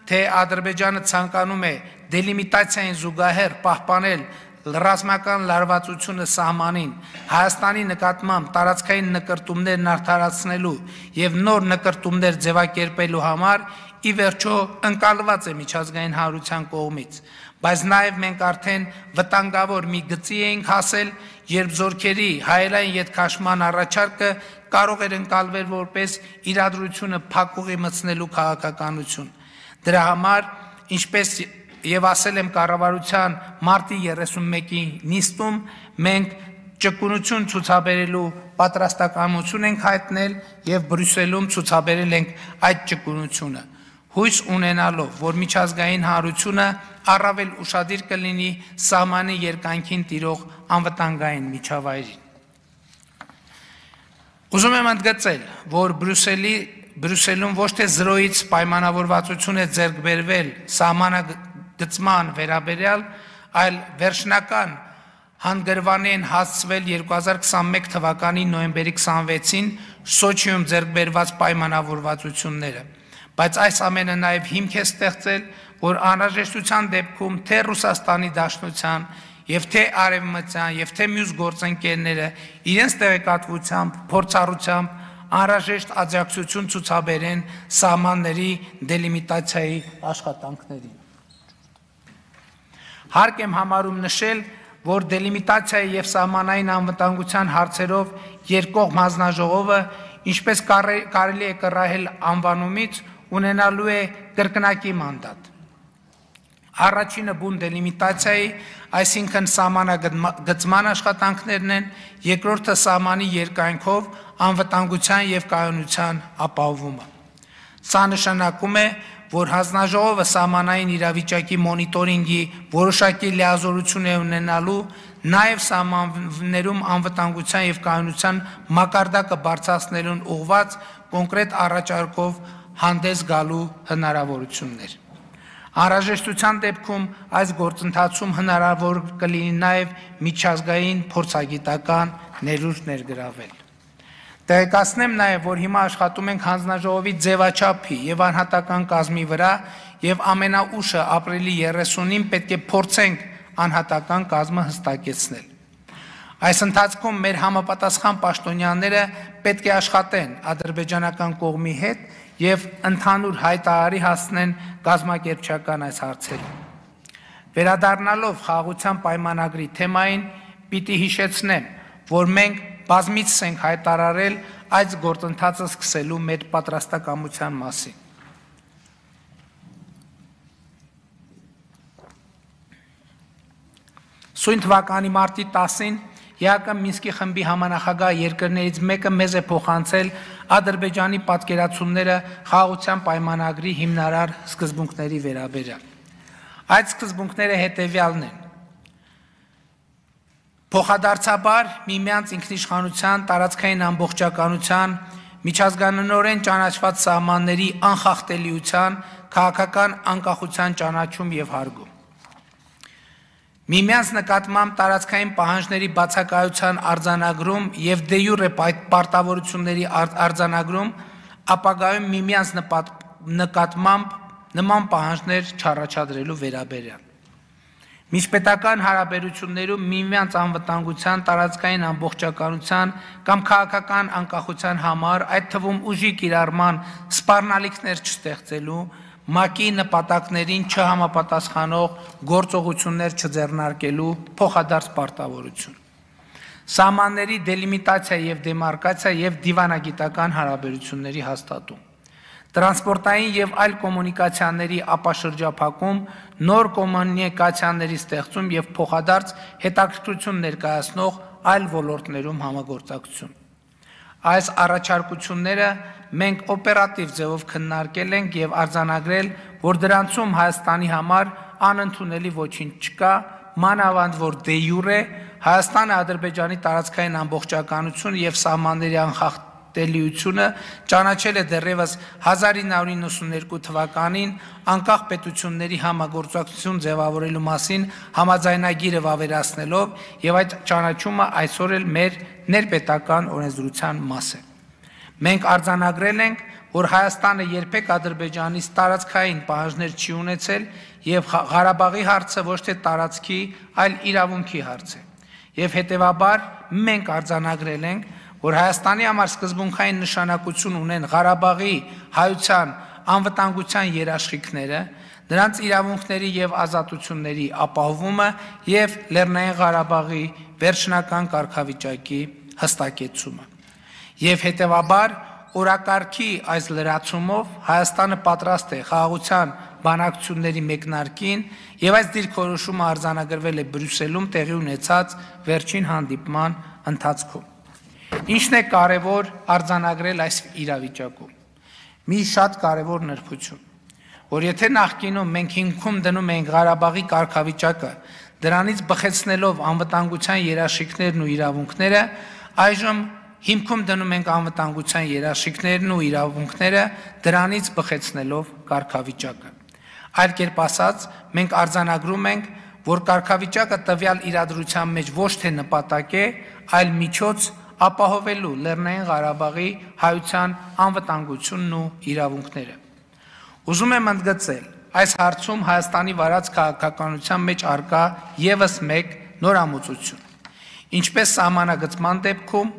թե Ադրբեջանը ցանկանում է դելիմիտացիային զուգահեռ պահպանել ռազմական լարվածությունը սահմանին, Հայաստանի նկատմամբ տարածքային նկրտումներն արդարացնելու եւ նոր նկրտումներ ձևակերպելու համար ի վերջո ընկալված է միջազգային հանրության կողմից, բայց նաեւ մենք արդեն վտանգավոր մի գծի էինք հասել, երբ զորքերի հայելային ետքաշման առաջարկը կարող էր ընկալվել որպես իրադրությունը փակուղի մտցնելու քաղաքականություն։ Դրա համար, ինչպես եւ ասել եմ կառավարության մարտի երեսունմեկի նիստում, մենք ճկունություն ցուցաբերելու պատրաստակամություն ենք հայտնել եւ Բրյուսելում ցուցաբերել ենք այդ ճկունությունը, հույս ունենալով, որ միջազգային հանրությունը առավել ուշադիր կլինի սահմանի երկայնքին տիրող անվտանգային միջավայրին։ Ուզում եմ ընդգծել, որ Բրյուսելի Բրյուսելում ոչ թե զրոյից պայմանավորվածություն է ձեռք բերվել սահմանագծման վերաբերյալ, այլ վերջնական հանգրվանի են հասցվել երկու հազար քսանմեկ թվականի նոյեմբերի քսանվեցին Սոչիում ձեռք բերված պայմանավորվածությունները, բայց այս ամենը նաև հիմք է ստեղծել, որ անհրաժեշտության դեպքում թե Ռուսաստանի Դաշնության եւ թե Արևմտյան եւ թե մյուս գործընկերները իրենց տեղեկատվությամբ, փորձառությամբ անհրաժեշտ աջակցություն ցուցաբերեն սահմանների դելիմիտացիայի աշխատանքներին։ Հարկ եմ համարում նշել, որ դելիմիտացիայի եւ սահմանային անվտանգության հարցերով երկկողմ հանձնաժողովը, ինչպես կարելի է կռահել անվանումից, ունենալու է կրկնակի մանդատ։ Առաջինը բուն դելիմիտացիայի, այսինքն սահմանագծման աշխատանքներն են, երկրորդը սահմանի երկայնքով անվտանգության եւ կայունության ապահովումը։ Սա նշանակում է, որ հանձնաժողովը սահմանային իրավիճակի մոնիտորինգի որոշակի լիազորություն է ունենալու, նաև սահմաններում անվտանգության եւ կայունության մակարդակը բարձրացնելուն ուղղված կոնկրետ առաջարկով հանդես գալու հնարավորություններ։ Անհրաժեշտության դեպքում այս գործընթացում հնարավոր կլինի նաև միջազգային փորձագիտական ներուժ ներգրավել։ Տեղեկացնեմ նաև, որ հիմա աշխատում ենք հանձնաժողովի ձևաչափի եւ անհատական կազմի վրա եւ ամենաուշը ապրիլի երեսունին պետք է փորձենք անհատական կազմը հստակեցնել։ Այս ընթացքում մեր համապատասխան պաշտոնյաները պետք է աշխատեն ադրբեջանական կողմի հետ եւ ընդհանուր հայտարարի հասնեն կազմակերպչական այս հարցերին։ Վերադառնալով խաղաղության պայմանագրի թեմային, պիտի հիշեցնեմ, որ մենք բազմիցս ենք հայտարարել այս գործընթացը սկսելու մեր պատրաստակամության մասին։ Սույն թվականի մարտի տասին ԵԱԿ Մինսկի խմբի համանախագահ երկրներից մեկը մեզ է փոխանցել Ադրբեջանի պատկերացումները խաղաղության պայմանագրի հիմնարար սկզբունքների վերաբերյալ։ Այդ սկզբունքները հետևյալն են. Փոխադարձաբար միմյանց ինքնիշխանության, տարածքային ամբողջականության, միջազգանորեն ճանաչված սահմանների անխախտելիության, քաղաքական անկախության ճանաչում եւ հարգում։ Միմյանց նկատմամբ տարածքային պահանջների բացակայության արձանագրում եւ դե յուրե պարտավորությունների արձանագրում, ապագայում միմյանց նկատմամբ նման պահանջներ չառաջադրելու վերաբերյալ։ Միջպետական հարաբերություններում միմյանց անվտանգության, տարածքային ամբողջականության կամ քաղաքական անկախության համար, այդ թվում ուժի կիրառման սպառնալիքներ չստեղծելու, ՄԱԿ-ի նպատակներին չհամապատասխանող գործողություններ չձեռնարկելու փոխադարձ պարտավորություն։ Սահմանների դելիմիտացիա եւ դեմարկացիա եւ դիվանագիտական հարաբերությունների հաստատում, տրանսպորտային եւ այլ կոմունիկացիաների ապաշրջափակում, նոր կոմունիկացիաների ստեղծում եւ փոխադարձ հետաքրքրություն ներկայացնող այլ ոլորտներում համագործակցություն։ Այս առաջարկությունները մենք օպերատիվ ձևով քննարկել ենք եւ արձանագրել, որ դրանցում Հայաստանի համար անընդունելի ոչինչ չկա, մանավանդ որ դե յուրե Հայաստանը Ադրբեջանի տարածքային ամբողջականություն եւ սահմանների անխախտելիությունը ճանաչել է դեռևս հազար ինը հարյուր իննսուններկու թվականին անկախ պետությունների համագործակցություն ձևավորելու մասին համաձայնագիրը վավերացնելով եւ այդ ճանաչումը այսօր էլ մեր ներպետական օրենսդրության մաս է։ Մենք արձանագրել ենք, որ Հայաստանը երբեք Ադրբեջանից տարածքային պահանջներ չի ունեցել եւ Ղարաբաղի հարցը ոչ թե տարածքի, այլ իրավունքի հարց է։ Եվ հետևաբար մենք արձանագրել ենք, որ Հայաստանի համար սկզբունքային նշանակություն ունեն Ղարաբաղի հայության անվտանգության երաշխիքները, նրանց իրավունքների եւ ազատությունների ապահովումը եւ Լեռնային Ղարաբաղի վերջնական կարգավիճակի հստակեցումը։ Եվ հետևաբար օրակարգի այս լրացումով Հայաստանը պատրաստ է խաղաղության բանակցությունների մեկնարկին եւ այս դիրքորոշումը արձանագրվել է Բրյուսելում տեղի ունեցած վերջին հանդիպման ընթացքում։ Ինչն է կարևոր արձանագրել այս իրավիճակում։ Մի շատ կարևոր նրբություն, որ եթե նախկինում մենք հիմքում դնում ենք Ղարաբաղի կարգավիճակը, դրանից բխեցնելով անվտանգության երաշխիքներն ու իրավունքները, այժմ հիմքում դնում ենք անվտանգության երաշխիքներն ու իրավունքները, դրանից բխեցնելով կարգավիճակը։ Այլ կերպ ասած, մենք արձանագրում ենք, որ կարգավիճակը տվյալ իրադրության մեջ ոչ թե նպատակ է, այլ միջոց ապահովելու Լեռնային Ղարաբաղի հայության անվտանգությունն ու իրավունքները։ Ուզում եմ ընդգծել, այս հարցում Հայաստանի վարած քաղաքականության մեջ առկա եւս մեկ նորամուծություն։ Ինչպես սահմանագծման դեպքում,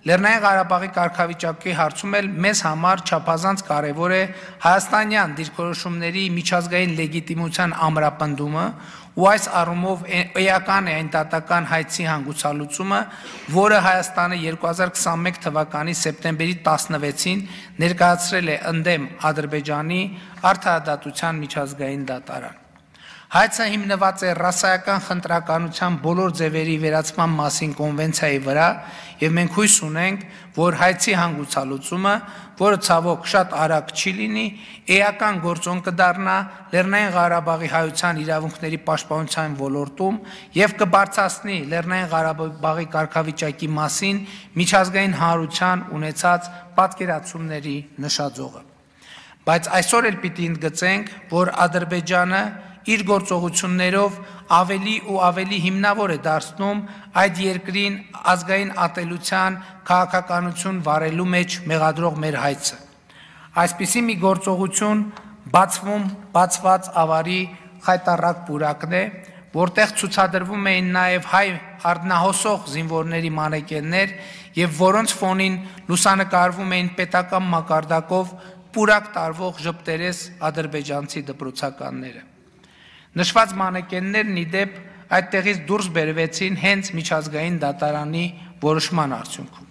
Լեռնային Ղարաբաղի կարգավիճակի հարցում էլ մեզ համար չափազանց կարևոր է հայաստանյան դիրքորոշումների միջազգային լեգիտիմության ամրապնդումը ու այս առումով էական է այն դատական հայցի հանգուցալուծումը, որը Հայաստանը երկու հազար քսանմեկ թվականի սեպտեմբերի տասնվեցին ներկայացրել է ընդդեմ Ադրբեջանի արդարադատության միջազգային դատարան։ Հայցը հիմնված է ռասայական խնդրականության բոլոր ձևերի վերացման մասին կոնվենցիայի վրա եւ մենք հույս ունենք, որ հայցի հանգուցալուծումը, որը ցավոք շատ արագ չի լինի, էական գործոն կդառնա Լեռնային Ղարաբաղի հայության իրավունքների պաշտպանության ոլորտում եւ կբարձրացնի Լեռնային Ղարաբաղի կարգավիճակի մասին միջազգային հանրության ունեցած պատկերացումների նշաձողը։ Բայց այսօր էլ պիտի ընդգծենք, որ Ադրբեջանը իր գործողություններով ավելի ու ավելի հիմնավոր է դարձնում այդ երկրին ազգային ատելության քաղաքականություն վարելու մեջ մեղադրող մեր հայցը։ Այսպիսի մի գործողություն բացվում բացված ավարի խայտառակ պուրակն է, որտեղ ցուցադրվում էին նաև հայ արդնահոսող զինվորների մանեկեններ եւ որոնց ֆոնին լուսանկարվում էին պետական մակարդակով պուրակ տարվող ժպտերես ադրբեջանցի դպրոցականները։ Նշված մանեկեններն ի դեպ այդտեղից դուրս բերվեցին հենց միջազգային դատարանի որոշման արդյունքում։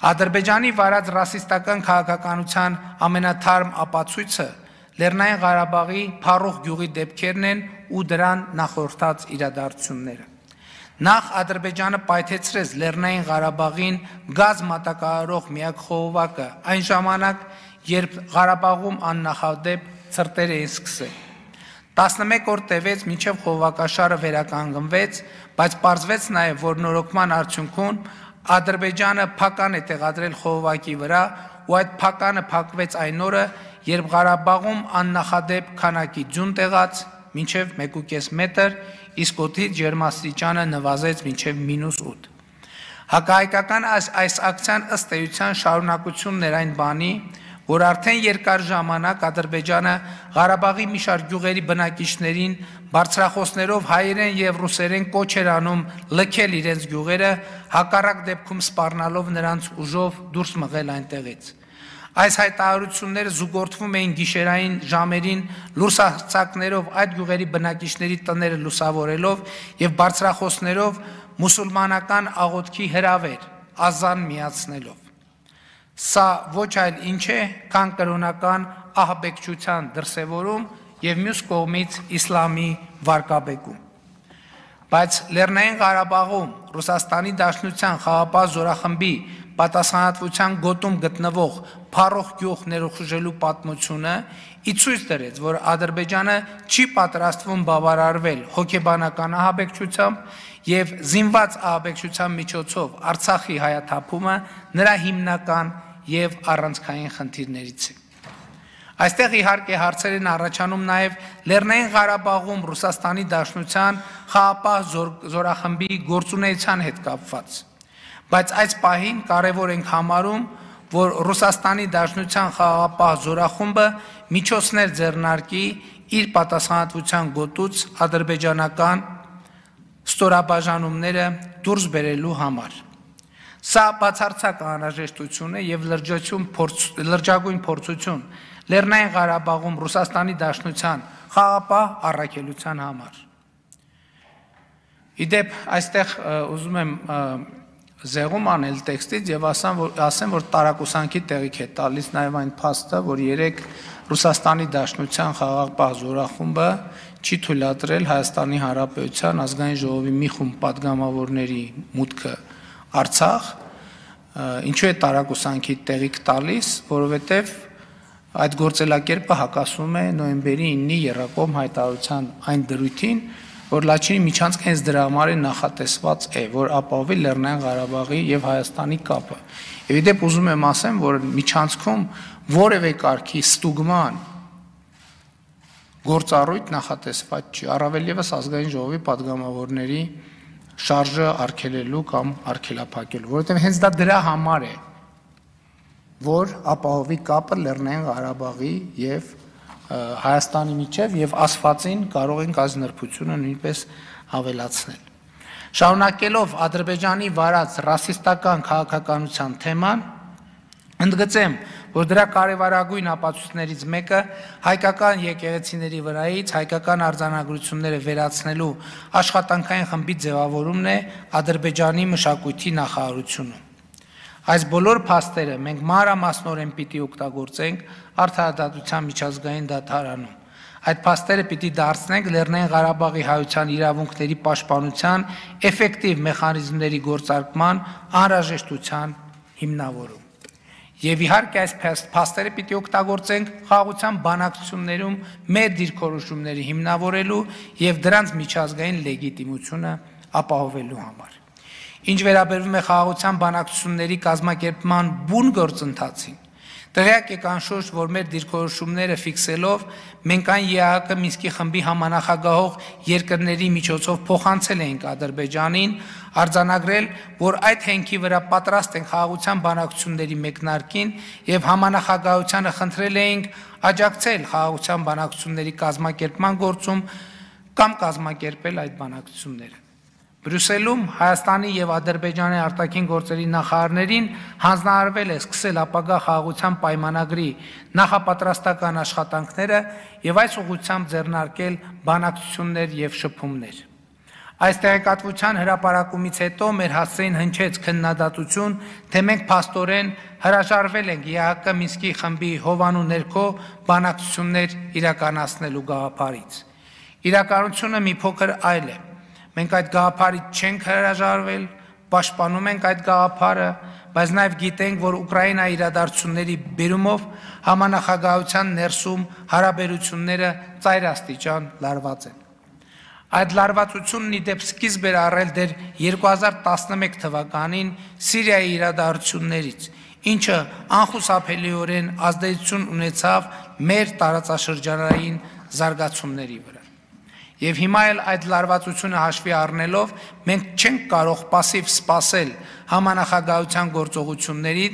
Ադրբեջանի վարած ռասիստական քաղաքականության ամենաթարմ ապացույցը Լեռնային Ղարաբաղի փառող գյուղի դեպքերն են ու դրան նախորդած իրադարձությունները։ Նախ Ադրբեջանը պայթեցրեց Լեռնային Ղարաբաղին գազ մատակարարող միակ խողովակը այն ժամանակ, երբ Ղարաբաղում աննախադեպ ցրտեր էին սկսել։ տասնմեկ օր տևեց մինչև խողովակաշարը վերականգնվեց, բայց պարզվեց նաև, որ նորոգման արդյունքում Ադրբեջանը փական է տեղադրել խողովակի վրա ու այդ փականը փակվեց այն օրը, երբ Ղարաբաղում աննախադեպ քանակի ձյուն տեղաց մինչև մեկ ու կես մետր, իսկ օդի ջերմաստիճանը նվազեց մինչև մինուս ութ։ Հակահայկական այս, այս ակցիան ըստ էության շարունակությունն էր այն բանի, որ արդեն երկար ժամանակ Ադրբեջանը Ղարաբաղի մի շարք գյուղերի բնակիչներին բարձրախոսներով հայերեն եւ ռուսերեն կոչ էր անում լքել իրենց գյուղերը, հակառակ դեպքում սպառնալով նրանց ուժով դուրս մղել այնտեղից։ Այս հայտարարությունները զուգորդվում էին գիշերային ժամերին լուրսարձակներով այդ գյուղերի բնակիչների տները լուսավորելով եւ բարձրախոսներով մուսուլմանական աղոթքի հրավեր, ազան միացնելով։ Սա ոչ այլ ինչ է, քան կրոնական ահաբեկչության դրսևորում եւ մյուս կողմից իսլամի վարկաբեկում։ Բայց Լեռնային Ղարաբաղում Ռուսաստանի Դաշնության խաղաղապահ զորախմբի պատասխանատվության գոտում գտնվող փառող գյուղ ներխուժելու պատմությունը ի ցույց դրեց, որ Ադրբեջանը չի պատրաստվում բավարարվել հոգեբանական ահաբեկչությամբ եւ զինված ահաբեկչության միջոցով Արցախի հայաթափումը նրա հիմնական եւ առանցքային խնդիրներից է։ Այստեղ իհարկե հարցեր են առաջանում նաև Լեռնային Ղարաբաղում Ռուսաստանի Դաշնության խաղաղապահ զորախմբի գործունեության հետ կապված, բայց այս պահին կարևոր ենք համարում, որ Ռուսաստանի Դաշնության խաղաղապահ զորախումբը միջոցներ ձեռնարկի իր պատասխանատվության գոտուց ադրբեջանական ստորաբաժանումները դուրս բերելու համար։ Սա բացարձակ անհրաժեշտություն է եւ լրջագույն փորձություն Լեռնային Ղարաբաղում Ռուսաստանի Դաշնության խաղաղապահ առաքելության համար։ Իդեպ այստեղ ուզում եմ զեղում անել տեքստից եւ ասեմ, որ ասեմ, որ տարակուսանքի տեղիք է տալիս նաեւ այն փաստը, որ երեք Ռուսաստանի Դաշնության խաղաղապահ զորախումբը չի թույլատրել Հայաստանի Հանրապետության ազգային ժողովի մի խումբ падգամավորների մուտքը Արցախ, ինչու է տարակուսանքի տեղիք տալիս, որովհետեւ այդ գործելակերպը հակասում է նոյեմբերի իննի Եռակոմ հայտարարության այն դրույթին, որ Լաչինի միջանցքը հենց դրա համար է նախատեսված է, որ ապահովի Լեռնային Ղարաբաղի եւ Հայաստանի կապը։ Եվ իդեպ ուզում եմ ասեմ, որ միջանցքում որևէ կարգի ստուգման գործառույթ նախատեսված չի, առավել եւս ազգային ժողովի падգամավորների շարժը արգելելու կամ արգելափակելու, որովհետեւ հենց դա դրա համար է, որ ապահովի կապը Լեռնային Ղարաբաղի եւ Հայաստանի միջև եւ ասվածին կարող ենք այս նրբությունը նույնպես ավելացնել։ Շարունակելով Ադրբեջանի վարած ռասիստական քաղաքականության թեման, ընդգծեմ, որ դրա կարևորագույն ապացույցներից մեկը հայկական եկեղեցիների վրայից հայկական արձանագրությունները վերացնելու աշխատանքային խմբի ձևավորումն է Ադրբեջանի մշակույթի նախարարությունում։ Այս բոլոր փաստերը մենք մանրամասնորեն պիտի օգտագործենք արդարադատության միջազգային դատարանում։ Այդ փաստերը պիտի դարձնենք Լեռնային Ղարաբաղի հայության իրավունքների պաշտպանության էֆեկտիվ մեխանիզմների գործարկման անհրաժեշտության հիմնավորում։ Եվ իհարկե այս փաստերը պիտի օգտագործենք խաղաղության բանակցություններում մեր դիրքորոշումների հիմնավորելու եւ դրանց միջազգային լեգիտիմությունը ապահովելու համար։ Ինչ վերաբերվում է խաղաղության բանակցությունների կազմակերպման բուն գործընթացին, տեղյակ եք անշուշտ, որ մեր դիրքորոշումները ֆիքսելով մենք այն ԵԱՀԿ Մինսկի խմբի համանախագահող երկրների միջոցով փոխանցել էինք Ադրբեջանին, արձանագրել, որ այդ հենքի վրա պատրաստ են խաղաղության բանակցությունների մեկնարկին եւ համանախագահությանը խնդրել էինք աջակցել խաղաղության բանակցությունների կազմակերպման գործում կամ կազմակերպել այդ բանակցությունները։ Բրյուսելում Հայաստանի եւ Ադրբեջանի արտաքին գործերի նախարարներին հանձնարարվել է սկսել ապագա խաղաղության պայմանագրի նախապատրաստական աշխատանքները եւ այս ուղղությամբ ձեռնարկել բանակցություններ եւ շփումներ։ Այս տեղեկատվության հրապարակումից հետո մեր հասցեին հնչեց քննադատություն, թե մենք փաստորեն հրաժարվել ենք ԵԱՀԿ Մինսկի խմբի հովանու ներքո բանակցություններ իրականացնելու գաղափարից։ Իրականությունը մի փոքր այլ է։ Մենք այդ գաղափարից չենք հրաժարվել, պաշտպանում ենք այդ գաղափարը, բայց նաև գիտենք, որ Ուկրաինայի իրադարձությունների բերումով համանախագահության ներսում հարաբերությունները ծայրաստիճան լարված են։ Այդ լարվածությունն ի դեպ սկիզբ էր առել դեռ երկու հազար տասնմեկ թվականին Սիրիայի իրադարձություններից, ինչը անխուսափելիորեն ազդեցություն ունեցավ մեր տարածաշրջանային զարգացումների վրա։ Եվ հիմա էլ այդ լարվածությունը հաշվի առնելով մենք չենք կարող пассив սպասել համանախագահության գործողությունների,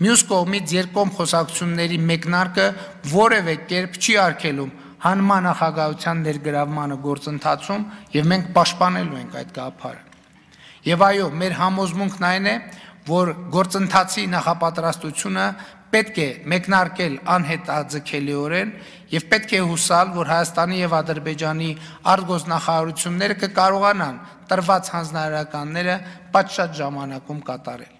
մյուս կողմից երկկողմ խոսակցությունների մեկնարկը որևէ կերպ չի արգելում հանմանախագահության ներգրավմանը գործընթացում եւ մենք պաշտպանելու ենք այդ գաղափարը։ Եվ այո, մեր համոզմունքն այն է, որ գործընթացի նախապատրաստությունը պետք է մեկնարկել անհետաձգելիորեն եւ պետք է հուսալ, որ Հայաստանի եւ Ադրբեջանի արտգործնախարարությունները կկարողանան տրված հանձնարարականները պատշաճ ժամանակում կատարել։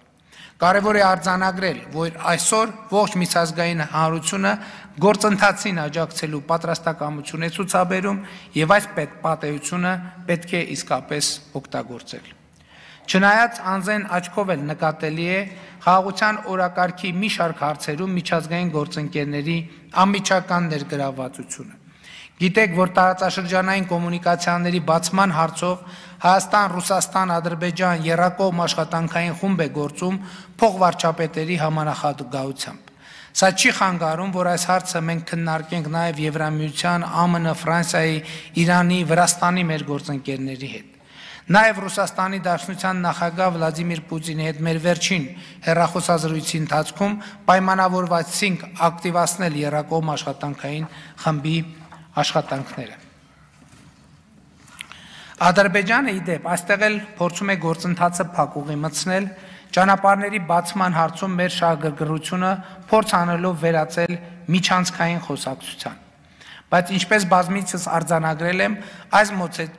Կարևոր է արձանագրել, որ այսօր ողջ միջազգային հանրությունը գործընթացին աջակցելու պատրաստակամություն է ցուցաբերում եւ այս պատեհությունը պետք է իսկապես օգտագործել։ Չնայած անձեն աչքով էլ նկատելի է խաղաղության օրակարգի մի շարք հարցերում միջազգային գործընկերների անմիջական ներգրավվածությունը։ Գիտեք, որ տարածաշրջանային կոմունիկացիաների բացման հարցով Հայաստան, Ռուսաստան, Ադրբեջան եռակողմ աշխատանքային խումբ է գործում փոխվարչապետերի համանախագահությամբ։ Սա չի խանգարում, որ այս հարցը մենք քննարկենք նաև Եվրամիության, Է Մ Ն, Ֆրանսիայի, Իրանի, Վրաստանի մեր գործընկերների հետ։ Նաև Ռուսաստանի Դաշնության նախագահ Վլադիմիր Պուտինի հետ մեր վերջին հեռախոսազրույցի ընթացքում պայմանավորվեցինք ակտիվացնել եռակողմ աշխատանքային խմբի աշխատանքները։ Ադրբեջանը ի դեպ այստեղ էլ փորձում է գործընթացը փակուղի մտցնել, ճանապարհների բացման հարցում մեր շահագրգռությունը փորձ անելով վերածել միջանցքային խոսակցության։ Բայց ինչպես բազմիցս արձանագրել եմ, այս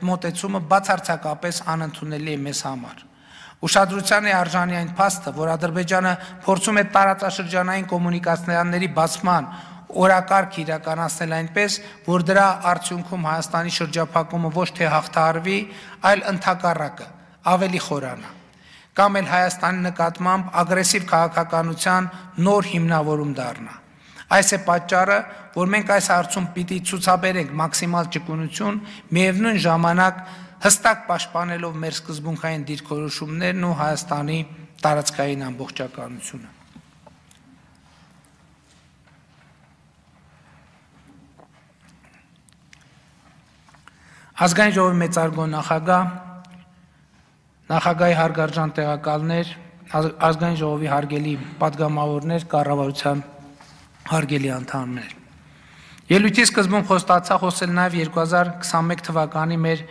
մոտեցումը բացարձակապես անընդունելի է մեզ համար։ Ուշադրության է արժանի այն փաստը, որ Ադրբեջանը փորձում է տարածաշրջանային կոմունիկացիաների բացման օրակարգ իրականացնել այնպես, որ դրա արդյունքում Հայաստանի շրջափակումը ոչ թե հաղթահարվի, այլ ընդհակառակը ավելի խորանա, կամ էլ Հայաստանի նկատմամբ ագրեսիվ քաղաքականության նոր հիմնավորում դառնա։ Այս է պատճառը, որ մենք այս հարցում պիտի ցուցաբերենք մաքսիմալ ճկունություն, միևնույն ժամանակ հստակ պաշտպանելով մեր սկզբունքային դիրքորոշումներն ու Հայաստանի տարածքային ամբողջականությունը։ Ազգային ժողովի մեծարգո նախագահ, նախագահի հարգարժան տեղակալներ, ազգային ժողովի հարգելի պատգամավորներ, կառավարության հարգելի անդամներ։ Ելույթի սկզբում խոստացա խոսել նաև երկու հազար քսաներկու թվականի մեր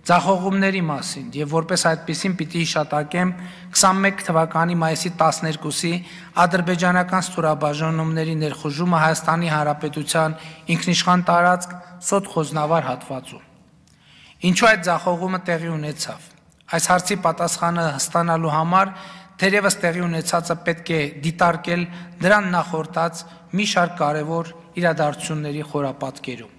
ձախողումների մասին եւ որպես այդպեսին պիտի հիշատակեմ քսաներկու թվականի մայիսի տասներկուսի ադրբեջանական ստորաբաժանումների ներխուժումը Հայաստանի Հանրապետության ինքնիշխան տարածք Սոտ Խոզնավար հատվածում։ Ինչու այդ ձախողումը տեղի ունեցավ։ Այս հարցի պատասխանը ստանալու համար թերևս տեղի ունեցածը պետք է դիտարկել դրան նախորդած մի շարք կարևոր իրադարձությունների խորապատկերում։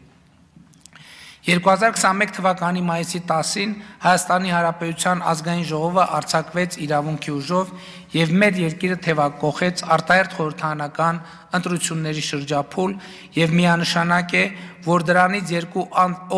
երկու հազար քսաներկու թվականի մայիսի տասին Հայաստանի Հանրապետության ազգային ժողովը արձակվեց իրավունքի ուժով եւ մեր երկիրը թեւակոխեց արտահերթ խորհրդարանական ընտրությունների շրջափուլ եւ միանշանակ է, որ դրանից երկու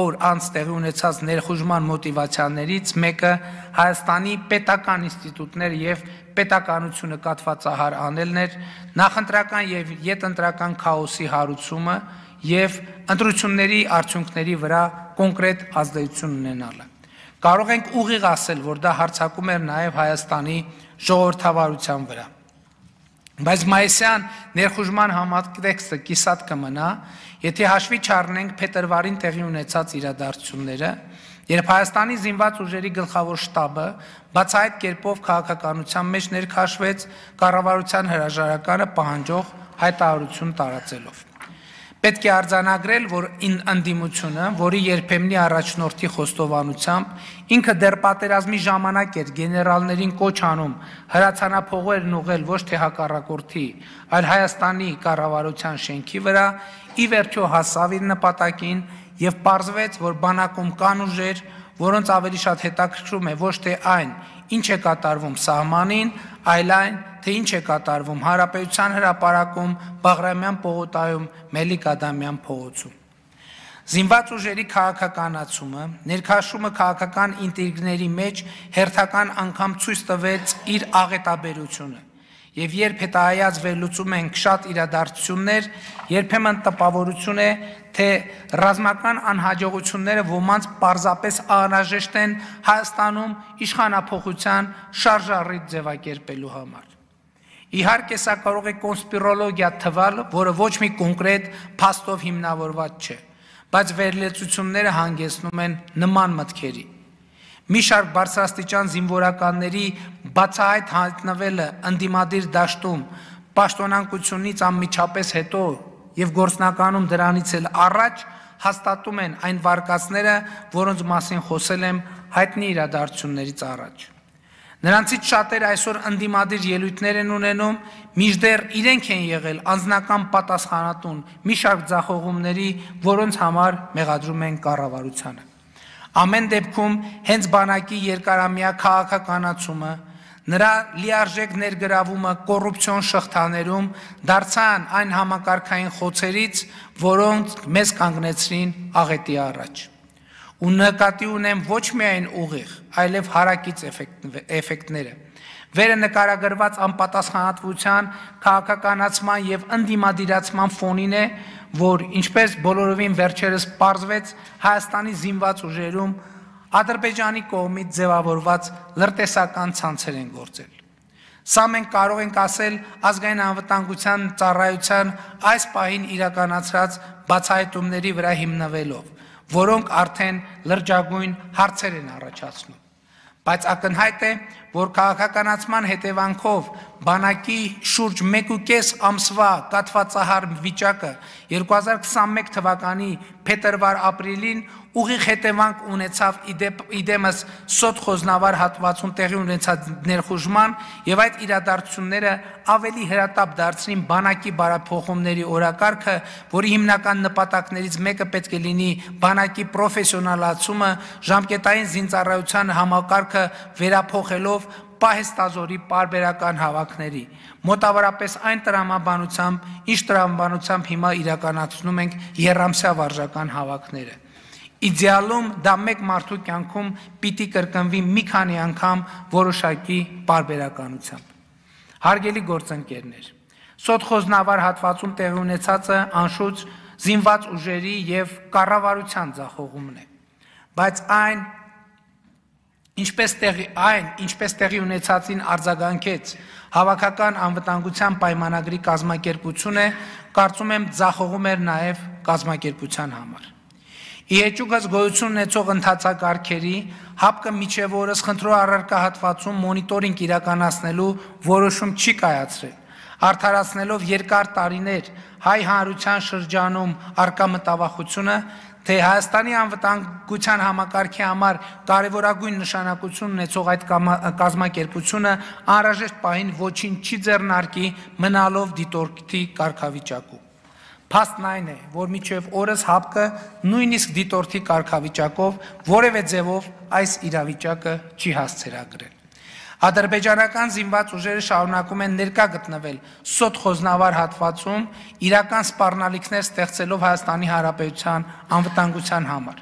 օր անց տեղի ունեցած ներխուժման մոտիվացիաներից մեկը Հայաստանի պետական ինստիտուտներ եւ պետականությունը կատվածահար անելն էր, նախընտրական եւ յետընտրական քաոսի հարուցումը եւ ընտրությունների արդյունքների վրա կոնկրետ ազդեցություն ունենալը։ Կարող ենք ուղիղ ասել, որ դա հարձակում էր նաև Հայաստանի ժողովրդավարության վրա։ Բայց մայիսյան ներխուժման համատեքստը կիսատ կմնա, եթե հաշվի չառնենք փետրվարին տեղի ունեցած իրադարձությունները, երբ Հայաստանի զինված ուժերի գլխավոր շտաբը բացահայտ կերպով քաղաքականության մեջ ներքաշվեց կառավարության հրաժարականը պահանջող հայտարարություն տարածելով։ Պետք է արձանագրել, որ ընդդիմությունը, որի երբեմնի առաջնորդի խոստովանությամբ ինքը դեռ պատերազմի ժամանակ էր գեներալներին կոչ անում հրացանափողերն ուղղել ոչ թե հակառակորդի, այլ Հայաստանի կառավարության շենքի վրա, ի վերջո հասավ իր նպատակին եւ պարզվեց, որ բանակում կան ուժեր, որոնց ավելի շատ հետաքրքրում է ոչ թե այն, ինչ է կատարվում սահմանին, այլ այն, թե ինչ է կատարվում Հանրապետության հրապարակում, Բաղրամյան պողոտայում, Մելիք Ադամյան փողոցում։ Զինված ուժերի քաղաքականացումը, ներքաշումը քաղաքական ինտրիգների մեջ հերթական անգամ ցույց տվեց իր աղետաբերությունը։ Եվ երբ հետահայաց վերլուծում ենք շատ իրադարձություններ, երբեմն տպավորություն է, թե ռազմական անհաջողությունները ոմանց պարզապես անհրաժեշտ են Հայաստանում իշխանափոխության շարժառիթ ձևակերպելու համար։ Իհարկե սա կարող է կոնսպիրոլոգիա թվալ, որը ոչ մի կոնկրետ փաստով հիմնավորված չէ, բայց վերլուծությունները հանգեցնում են նման մտքերի։ մի շարք բարձրաստիճան զինվորականների բացահայտ հայտնվելը ընդդիմադիր դաշտում պաշտոնանկությունից անմիջապես հետո եւ գործնականում դրանից էլ առաջ հաստատում են այն վարկածները, որոնց մասին խոսել եմ հայտնի իրադարձություններից առաջ։ Նրանցից շատերը այսօր ընդդիմադիր ելույթներ են ունենում, մինչդեռ իրենք են եղել անձնական պատասխանատուն մի շարք ձախողումների, որոնց համար մեղադրում են կառավարությանը։ Ամեն դեպքում հենց բանակի երկարամյա քաղաքականացումը, նրա լիարժեք ներգրավումը կոռուպցիոն շղթաներում դարձան այն համակարգային խոցերից, որոնք մեզ կանգնեցրին աղետի առաջ։ Ու նկատի ունեմ ոչ միայն ուղիղ, այլև հարակից էֆեկտները։ Վերը նկարագրված անպատասխանատվության, քաղաքականացման եւ ընդդիմադիրացման ֆոնին է, որ ինչպես բոլորովին վերջերս պարզվեց Հայաստանի զինված ուժերում Ադրբեջանի կողմից ձևավորված լրտեսական ցանցեր են գործել։ Սա մենք կարող ենք ասել ազգային անվտանգության ծառայության այս պահին իրականացրած բացահայտումների վրա հիմնվելով, որոնք արդեն լրջագույն հարցեր են առաջացնում։ Բայց ակնհայտ է, որ քաղաքականացման հետևանքով բանակի շուրջ մեկ ու կես ամսվա կաթվածահար վիճակը երկու հազար քսանմեկ թվականի փետրվար-ապրիլին ուղիղ հետևանք ունեցավ իդեմս սոտ խոզնավար հատվածում տեղի ունեցած ներխուժման եւ այդ իրադարձությունները ավելի հրատապ դարձրին բանակի բարափոխումների օրակարգը, որի հիմնական նպատակներից մեկը պետք է լինի բանակի պրոֆեսիոնալացումը, ժամկետային զինծառայության համակարգը վերափոխելով պահեստազորի պարբերական հավաքների, մոտավորապես այն տրամաբանությամբ, ինչ տրամաբանությամբ հիմա իրականացնում ենք եռամսյա վարժական հավաքները։ Իդեալում դա մեկ մարդու կյանքում պիտի կրկնվի մի քանի անգամ որոշակի պարբերականությամբ։ Հարգելի գործընկերներ, Սոտխոզնավար հատվածում տեղի ունեցածը անշուտ զինված ուժերի եւ կառավարության ձախողումն է, բայց այն Ինչպես տեղի այն, ինչպես տեղի ունեցածին արձագանքեց հավաքական անվտանգության պայմանագրի կազմակերպությունը, կարծում եմ ձախողում էր նաև կազմակերպության համար։ Իհեճուկս գոյություն ունեցող ընթացակարգերի հապկը միջև օրս խնդրո առարկա հատվածում մոնիտորինգ իրականացնելու որոշում չի կայացրել, արդարացնելով երկար տարիներ հայ հանրության շրջանում արկա մտավախությունը, թե Հայաստանի անվտանգության համակարգի համար կարևորագույն նշանակություն ունեցող այդ կազմակերպությունը անհրաժեշտ պահին ոչինչ չի ձեռնարկի մնալով դիտորդի կարգավիճակում։ Փաստն այն է, որ մինչև օրս հապկը նույնիսկ դիտորդի կարգավիճակով որևէ ձևով այս իրավիճակը չի հասցրագրել։ Ադրբեջանական զինված ուժերը շարունակում են ներկա գտնվել Սոտխոզնավար հատվածում իրական սպառնալիքներ ստեղծելով Հայաստանի Հանրապետության անվտանգության համար,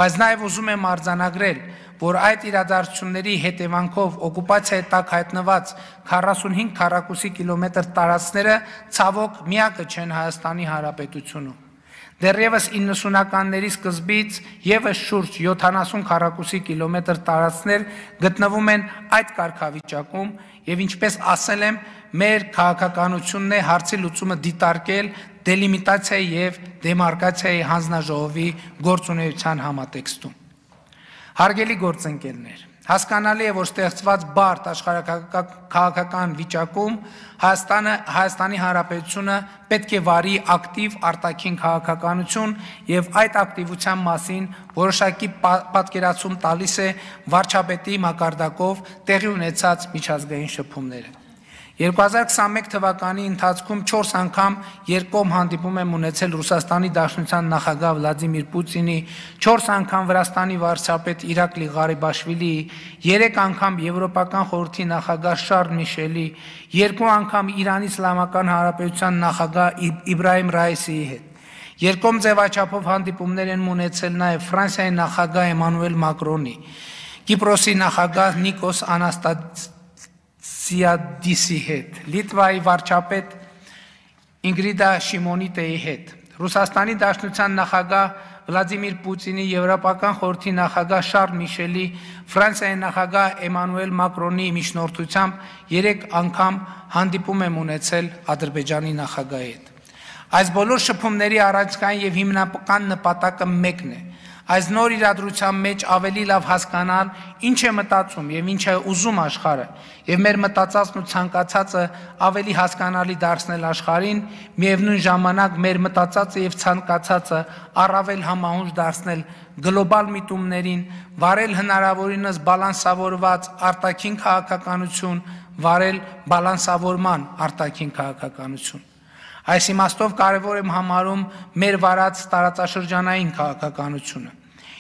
բայց նաև ուզում եմ արձանագրել, որ այդ իրադարձությունների հետևանքով օկուպացիայի տակ հայտնված քառասունհինգ քառակուսի կիլոմետր տարածքները ցավոք միակը չեն Հայաստանի Հանրապետությունում։ Դեռևս իննսունականների սկզբից եւս շուրջ յոթանասուն քառակուսի կիլոմետր տարածքներ գտնվում են այդ կարգավիճակում եւ ինչպես ասել եմ, մեր քաղաքականությունն է հարցի լուծումը դիտարկել դելիմիտացիայի եւ դեմարկացիայի հանձնաժողովի գործունեության համատեքստում։ Հարգելի գործընկերներ, հասկանալի է, որ ստեղծված բարդ աշխարհաքաղաքական վիճակում Հայաստանը, Հայաստանի Հանրապետությունը պետք է վարի ակտիվ արտաքին քաղաքականություն եւ այդ ակտիվության մասին որոշակի պատկերացում տալիս է վարչապետի մակարդակով տեղի ունեցած միջազգային շփումները։ երկու հազար քսանմեկ թվականի ընթացքում չորս անգամ երկկողմ հանդիպում եմ ունեցել Ռուսաստանի Դաշնության նախագահ Վլադիմիր Պուտինի, չորս անգամ Վրաստանի վարչապետ Իրակլի Ղարիբաշվիլիի, երեք անգամ Եվրոպական խորհրդի նախագահ Շարլ Միշելի, երկու անգամ Իրանի Իսլամական Հանրապետության նախագահ Իբրահիմ Ռայիսիի հետ։ Երկկողմ ձևաչափով հանդիպումներ են ունեցել նաև Ֆրանսիայի նախագահ Էմանուել Մակրոնի, Կիպրոսի նախագահ Նիկոս Անաստասիադիսի հետ, Լիտվայի վարչապետ Ինգրիդա Շիմոնիտեի հետ, Ռուսաստանի Դաշնության նախագահ Վլադիմիր Պուտինի, Եվրոպական խորհրդի նախագահ Շարլ Միշելի, Ֆրանսիայի նախագահ Էմանուել Մակրոնի միջնորդությամբ երեք անգամ հանդիպում եմ ունեցել Ադրբեջանի նախագահի հետ։ Այս բոլոր շփումների առանցքային եւ հիմնական նպատակը մեկն է՝ Այս նոր իրադրության մեջ ավելի լավ հասկանալ ինչ է մտածում եւ ինչ է ուզում աշխարհը եւ մեր մտածածն ու ցանկացածը ավելի հասկանալի դարձնել աշխարհին, միևնույն ժամանակ մեր մտածածը եւ ցանկացածը առավել համահունչ դարձնել գլոբալ միտումներին, վարել հնարավորինս բալանսավորված արտաքին քաղաքականություն, վարել բալանսավորման արտաքին քաղաքականություն։ Այս իմաստով կարևոր եմ համարում մեր վարած տարածաշրջանային քաղաքականությունը։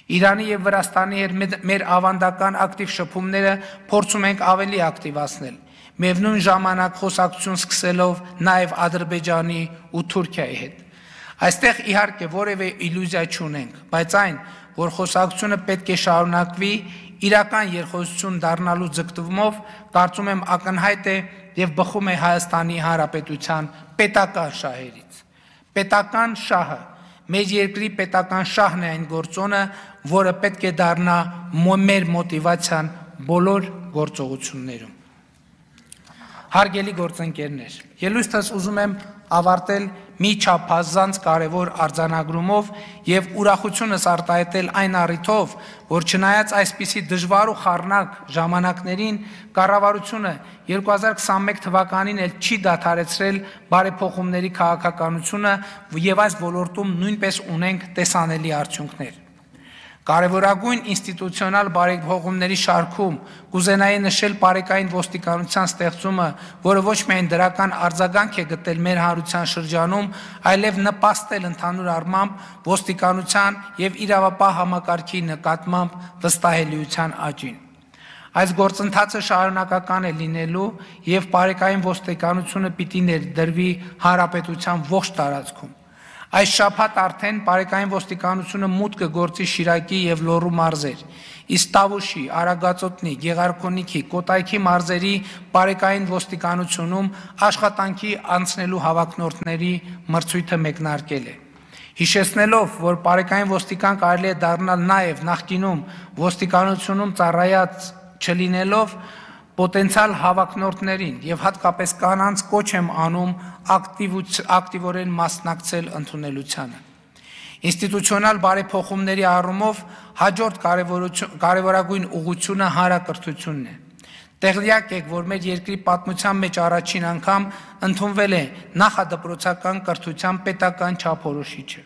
Իրանի եւ Վրաստանի հետ մեր ավանդական ակտիվ շփումները փորձում ենք ավելի ակտիվացնել, միևնույն ժամանակ խոսակցություն սկսելով նաեւ Ադրբեջանի ու Թուրքիայի հետ։ Այստեղ իհարկե որևէ իլյուզիա չունենք, բայց այն, որ խոսակցությունը պետք է շարունակվի իրական երկխոսություն դառնալու ձգտումով, կարծում եմ ակնհայտ է եւ բխում է Հայաստանի Հանրապետության պետական շահերից։ Պետական շահը, մեր երկրի պետական շահն է այն գործոնը, որը պետք է դառնա մեր մոտիվացիան բոլոր գործողություններում։ Հարգելի գործընկերներ, ելույթս ուզում եմ ավարտել մի չափազանց կարևոր արձանագրումով եւ ուրախությունս արտահայտել այն առիթով, որ չնայած այսպիսի դժվար ու խառնակ ժամանակներին, կառավարությունը երկու հազար քսանմեկ թվականին էլ չի դադարեցրել բարեփոխումների քաղաքականությունը եւ այս ոլորտում նույնպես ունենք տեսանելի արդյունքներ։ Կարևորագույն ինստիտուցիոնալ բարեփոխումների շարքում կուզենայի նշել բարեկային ոստիկանության ստեղծումը, որը ոչ միայն դրական արձագանք է գտել մեր հանրության շրջանում, այլև նպաստել ընդհանուր առմամբ ոստիկանության եւ իրավապահ համակարգի նկատմամբ վստահելիության աճին։ Այս գործընթացը շարունակական է լինելու եւ բարեկային ոստիկանությունը պիտի ներդրվի հանրապետության ողջ տարածքում։ Այս շաբաթ արդեն բարեկային ոստիկանությունը մուտք կգործի Շիրակի եւ Լոռու մարզեր, իսկ Տավուշի, Արագածոտնի, Գեղարքունիքի, Կոտայքի մարզերի բարեկային ոստիկանությունում աշխատանքի անցնելու հավակնորդների մրցույթը մեկնարկել է։ Հիշեցնելով, որ բարեկային ոստիկան կարելի է դառնալ նաեւ նախկինում ոստիկանությունում ծառայած չլինելով, պոտենցիալ հավակնորդներին եւ հատկապես կանանց կոչ եմ անում ակտիվորեն մասնակցել ընդունելությանը։ Ինստիտուցիոնալ բարեփոխումների առումով հաջորդ կարևորագույն ուղղությունը հանրակրթությունն է։ Տեղյակ եք, որ մեր երկրի պատմության մեջ առաջին անգամ ընդունվել է նախադպրոցական կրթության պետական չափորոշիչը,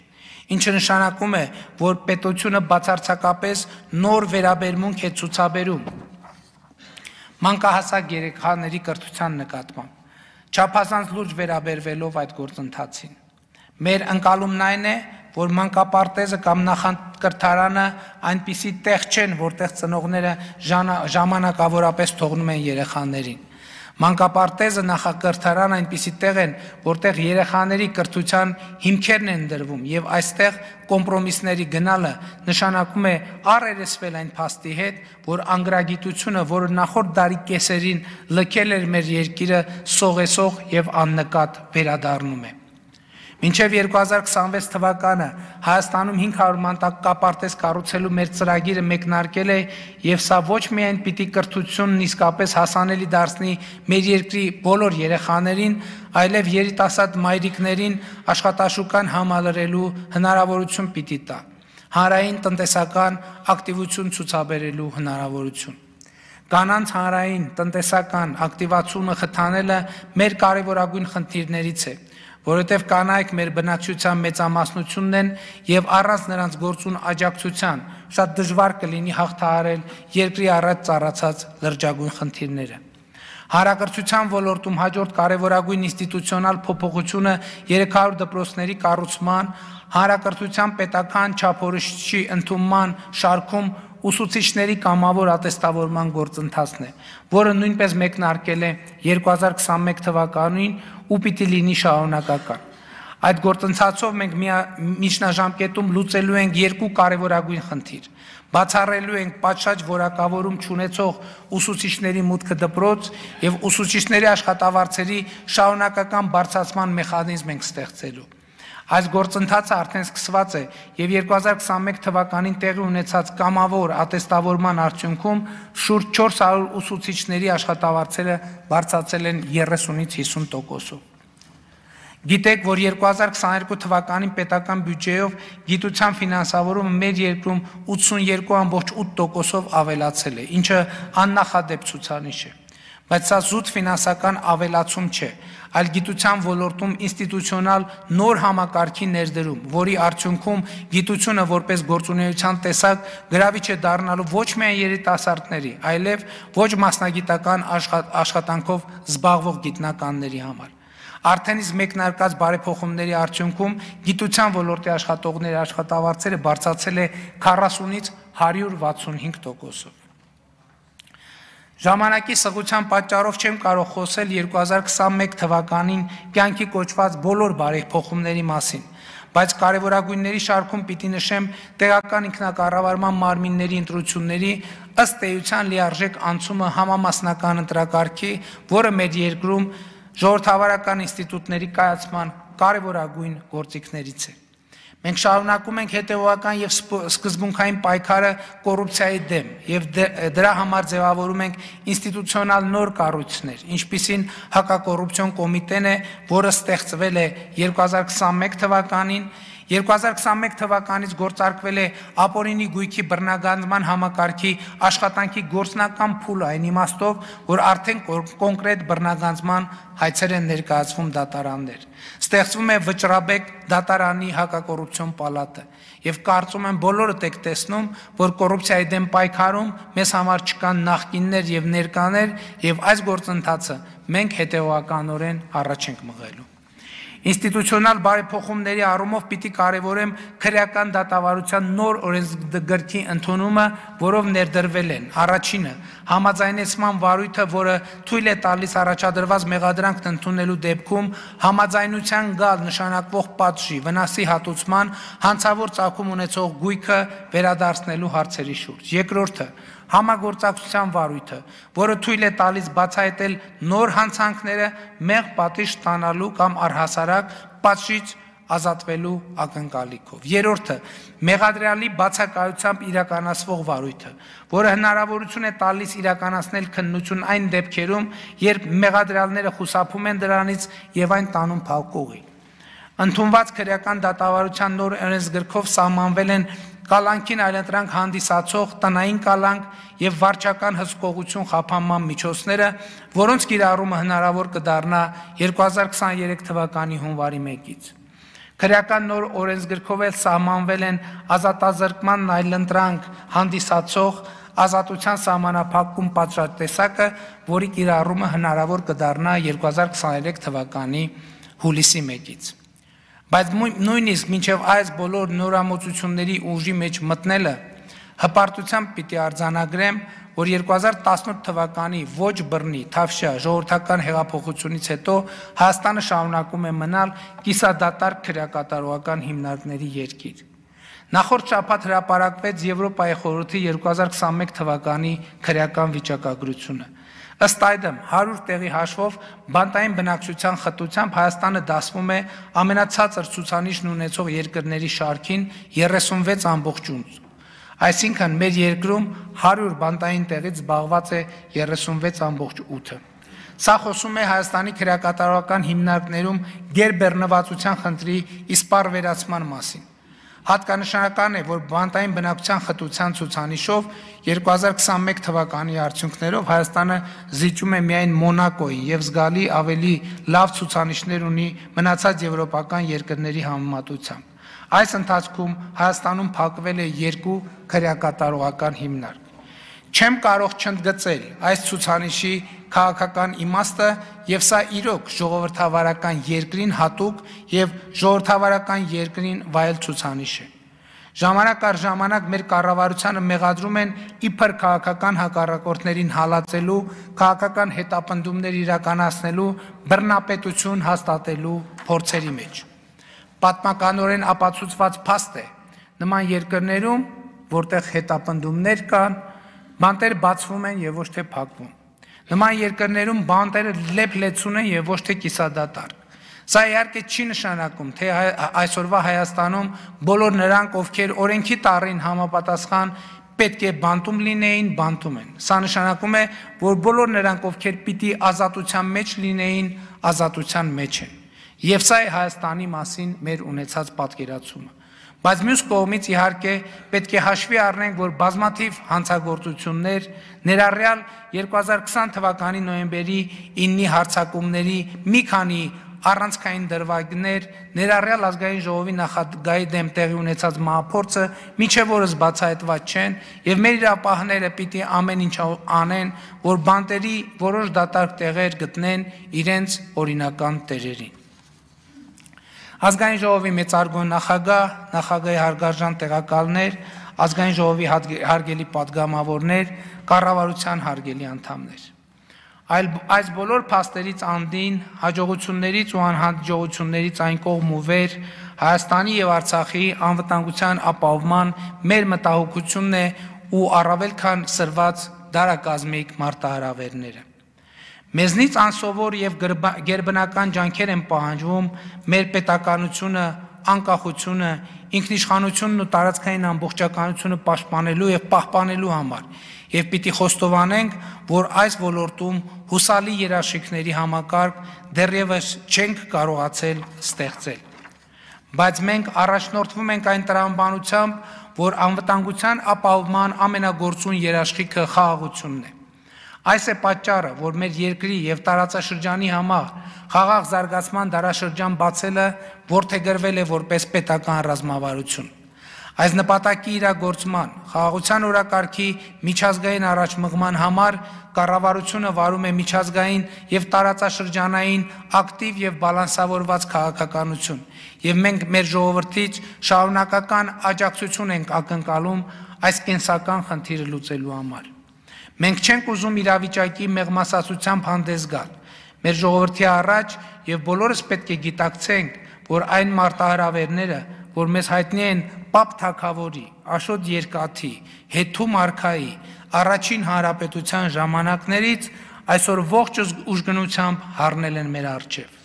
ինչը նշանակում է, որ պետությունը բացարձակապես նոր վերաբերմունք է ցուցաբերում մանկահասակ երեխաների կրթության նկատմամբ, չափազանց լուրջ վերաբերվելով այդ գործընթացին։ Մեր ընկալումն այն է, որ մանկապարտեզը կամ նախակրթարանը այնպիսի տեղ չեն, որտեղ ծնողները ժամանակավորապես թողնում են երեխաներին։ Մանկապարտեզը, նախակրթարանը այնպիսի տեղ են, որտեղ երեխաների կրթության հիմքերն են դրվում եւ այստեղ կոմպրոմիսների գնալը նշանակում է առերեսվել այն փաստի հետ, որ անգրագիտությունը, որը նախորդ դարի կեսերին լքել էր մեր երկիրը, սողեսող եւ աննկատ վերադառնում է։ Մինչև երկու հազար քսանվեց թվականը Հայաստանում հինգ հարյուր մանկապարտեզ կառուցելու մեր ծրագիրը մեկնարկել է եւ սա ոչ միայն պիտի կրթությունն իսկապես հասանելի դարձնի մեր երկրի բոլոր երեխաներին, այլև երիտասարդ մայրիկներին աշխատաշուկան համալրելու հնարավորություն պիտի տա, հանրային տնտեսական ակտիվություն ցուցաբերելու հնարավորություն։ Կանանց հանրային տնտեսական ակտիվացումը խթանելը մեր կարևորագույն խնդիրներից է, որովհետև կանայք մեր բնակչության մեծամասնությունն են եւ առանց նրանց գործուն աջակցության շատ դժվար կլինի հաղթահարել երկրի առաջ ծառացած լրջագույն խնդիրները։ Հանրակրթության ոլորտում հաջորդ կարևորագույն ինստիտուցիոնալ փոփոխությունը երեք հարյուր դպրոցների կառուցման, հանրակրթության պետական չափորոշիչի ընդունման շարքում ուսուցիչների կամավոր ատեստավորման գործընթացն է, որը նույնպես մեկնարկել է երկու հազար քսանմեկ թվականին ու պիտի լինի շարունակական։ Այդ գործընթացով մենք միջնաժամկետում լուծելու ենք երկու կարևորագույն խնդիր։ Բացառելու ենք պատշաճ որակավորում չունեցող ուսուցիչների մուտքը դպրոց եւ ուսուցիչների աշխատավարձերի շարունակական բարձրացման մեխանիզմ ենք ստեղծելու։ Այս գործընթացը արդեն սկսված է եւ երկու հազար քսանմեկ թվականին տեղի ունեցած կամավոր ատեստավորման արդյունքում շուրջ չորս հարյուր ուսուցիչների աշխատավարձերը բարձրացել են երեսունից հիսուն տոկոսով։ Գիտեք, որ երկու հազար քսաներկու թվականին պետական բյուջեով գիտության ֆինանսավորումը մեր երկրում ութսունյոթ ամբողջ ութ տոկոսով ավելացել է, ինչը աննախադեպ ցուցանիշ է։ Բայց սա զուտ ֆինանսական ավելացում չէ, այլ գիտության ոլորտում ինստիտուցիոնալ նոր համակարգի ներդրում, որի արդյունքում գիտությունը որպես գործունեության տեսակ գրավիչ է դառնալու ոչ միայն երիտասարդների, այլև ոչ մասնագիտական աշխատանքով զբաղվող գիտնականների համար։ Արդեն իսկ մեկնարկած բարեփոխումների արդյունքում գիտության ոլորտի աշխատողների աշխատավարձերը բարձրացել է քառասունից հարյուր վաթսունհինգ տոկոսով։ Ժամանակի սղության պատճառով չեմ կարող խոսել երկու հազար քսաներկու թվականին կյանքի կոչված բոլոր բարեփոխումների մասին, բայց կարևորագույնների շարքում պիտի նշեմ տեղական ինքնակառավարման մարմինների ընտրությունների ըստ էության լիարժեք անցումը համամասնական ընտրակարգի, որը մեր երկրում ժողովրդավարական ինստիտուտների կայացման կարևորագույն գործիքներից է։ Մենք շարունակում ենք հետևողական եւ սկզբունքային պայքարը կոռուպցիայի դեմ եւ դրա համար ձևավորում ենք ինստիտուցիոնալ նոր կառույցներ, ինչպիսին հակակոռուպցիոն կոմիտեն է, որը ստեղծվել է երկու հազար քսաներկու թվականին, երկու հազար քսաներկու թվականից գործարկվել է ապօրինի գույքի բռնագանձման համակարգի աշխատանքի գործնական փուլը այն իմաստով, որ արդեն կոնկրետ բռնագանձման հայցեր են ներկայացվում դատարաններ։ Ստեղծվում է վճռաբեկ դատարանի հակակոռուպցիոն պալատը եւ կարծում եմ բոլորդ եք տեսնում, որ կոռուպցիայի դեմ պայքարում մեզ համար չկան նախկիններ եւ ներկաներ եւ այս գործընթացը մենք հետեւականորեն առաջ ենք մղելու։ Ինստիտուցիոնալ բարեփոխումների առումով պիտի կարևորեմ քրեական դատավարության նոր օրենսգրքի ընդունումը, որով ներդրվել են առաջինը համաձայնեցման վարույթը, որը թույլ է տալիս առաջադրված մեղադրանքն ընդունելու դեպքում համաձայնության գալ նշանակվող պատժի, վնասի հատուցման, հանցավոր ծագում ունեցող գույքը վերադարձնելու հարցերի շուրջ։ Երկրորդը համագործակցության վարույթը, որը թույլ է տալիս բացահայտել նոր հանցանքները մեղ պատիժ ստանալու կամ առհասարակ պատժից ազատվելու ակնկալիքով։ Երրորդը մեղադրյալի բացակայությամբ իրականացվող վարույթը, որը հնարավորություն է տալիս իրականացնել քննություն այն դեպքերում, երբ մեղադրյալները խուսափում են դրանից եւ այն տանում փակուղի։ Ընդունված քրեական դատավարության նոր օրենսգրքով սահմանվել են կալանքին այլընտրանք հանդիսացող տնային կալանք եւ վարչական հսկողություն խափանման միջոցները, որոնց կիրառումը հնարավոր կդառնա երկու հազար քսաներկու թվականի հունվարի մեկից։ Քրեական նոր օրենսգրքով էլ սահմանվել են ազատազրկման այլընտրանք հանդիսացող ազատության սահմանափակում պատժատեսակը, որի կիրառումը հնարավոր կդառնա երկու հազար քսաներկու թվականի հուլիսի մեկից։ Բայց նույնիսկ մինչև այս բոլոր նորամուծությունների ուժի մեջ մտնելը հպարտությամբ պիտի արձանագրեմ, որ երկու հազար տասնութ թվականի ոչ բռնի թավշյա ժողովրդական հեղափոխությունից հետո Հայաստանը շարունակում է մնալ կիսադատարկ քրեակատարողական հիմնարկների երկիր։ Նախորդ շաբաթ հրապարակվեց Եվրոպայի խորհրդի երկու հազար քսաներկու թվականի քրեական վիճակագրությունը։ Ըստ այդմ հարյուր տեղի հաշվով բանտային բնակչության խտությամբ Հայաստանը դասվում է ամենացածր ցուցանիշն ունեցող երկրների շարքին երեսունվեց ամբողջ ութ։ Այսինքն մեր երկրում հարյուր բանտային տեղից զբաղված է երեսունվեց ամբողջ ութը։ Սա խոսում է Հայաստանի քրեակատարողական հիմնարկներում գերբեռնվածության խնդրի իսպառ վերացման մասին։ Հատկանշական է, որ բանտային բնակչության խտության ցուցանիշով երկու հազար քսաներկու թվականի արդյունքներով Հայաստանը զիջում է միայն Մոնակոյին եւ զգալի ավելի լավ ցուցանիշներ ունի մնացած եվրոպական երկրների համեմատությամբ։ Այս ընթացքում Հայաստանում փակվել է երկու քրեակատարողական հիմնարկ։ Չեմ կարող չընդգծել այս ցուցանիշի քաղաքական իմաստը եւ սա իրոք ժողովրդավարական երկրին հատուկ եւ ժողովրդավարական երկրին վայել ցուցանիշ է։ Ժամանակ առ ժամանակ մեր կառավարությանը մեղադրում են իբր քաղաքական հակառակորդներին հալածելու, քաղաքական հետապնդումներ իրականացնելու, բռնապետություն հաստատելու փորձերի մեջ։ Պատմականորեն ապացուցված փաստ է նման երկրներում, որտեղ հետապնդումներ կան, բանտեր բացվում են եւ ոչ թե փակվում։ Նման երկրներում բանտերը լեփ-լեցուն են եւ ոչ թե կիսադատարկ։ Սա իհարկե չի նշանակում, թե այսօրվա Հայաստանում բոլոր նրանք, ովքեր օրենքի տառին համապատասխան պետք է բանտում լինեին, բանտում են։ Սա նշանակում է, որ բոլոր նրանք, ովքեր պիտի ազատության մեջ լինեին, ազատության մեջ են։ Եվ սա է Հայաստանի մասին մեր ունեցած պատկերացումը։ Բայց մյուս կողմից իհարկե պետք է հաշվի առնենք, որ բազմաթիվ հանցագործություններ, ներառյալ երկու հազար քսան թվականի նոյեմբերի իննի հարձակումների մի քանի առանցքային դրվագներ, ներառյալ ազգային ժողովի նախագահի դեմ տեղի ունեցած մահափորձը մինչև օրս բացահայտված չեն, եւ մեր իրապահները պիտի ամեն ինչ անեն, որ բանտերի որոշ դատարկ տեղեր գտնեն իրենց օրինական տերերին։ Ազգային ժողովի մեծարգո նախագահ, նախագահի հարգարժան տեղակալներ, ազգային ժողովի հարգելի պատգամավորներ, կառավարության հարգելի անդամներ։ Այս բոլոր փաստերից անդին, հաջողություններից ու անհաջողություններից այն կողմ ու վեր Հայաստանի եւ Արցախի անվտանգության ապահովման մեր մտահոգությունն է ու առավել քան սրված դարակազմիկ մարտահրավերները։ Մեզնից անսովոր եւ գերբնական ջանքեր են պահանջվում մեր պետականությունը, անկախությունը, ինքնիշխանությունն ու տարածքային ամբողջականությունը պաշտպանելու եւ պահպանելու համար, եւ պիտի խոստովանենք, որ այս ոլորտում հուսալի երաշխիքների համակարգ դեռևս չենք կարողացել ստեղծել։ Բայց մենք առաջնորդվում ենք այն տրամաբանությամբ, որ անվտանգության ապահովման ամենագործուն երաշխիքը խաղաղությունն է։ Այս է պատճառը, որ մեր երկրի եւ տարածաշրջանի համար խաղաղ զարգացման դարաշրջան բացելը որդեգրվել է որպես պետական ռազմավարություն։ Այս նպատակի իրագործման, խաղաղության օրակարգի միջազգային առաջմղման համար կառավարությունը վարում է միջազգային եւ տարածաշրջանային ակտիվ եւ բալանսավորված քաղաքականություն, եւ մենք մեր ժողովրդից շարունակական աջակցություն ենք ակնկալում այս կենսական խնդիրը լուծելու համար։ Մենք չենք ուզում իրավիճակի մեղմասացությամբ հանդես գալ։ Մեր ժողովրդի առաջ եւ բոլորս պետք է գիտակցենք, որ այն մարտահրավերները, որ մեզ հայտնի են Պապ Թագավորի, Աշոտ Երկաթի, Հետու Մարքայի, առաջին հանրապետության ժամանակներից այսօր ողջ ուժգնությամբ հառնել են մեր առջև։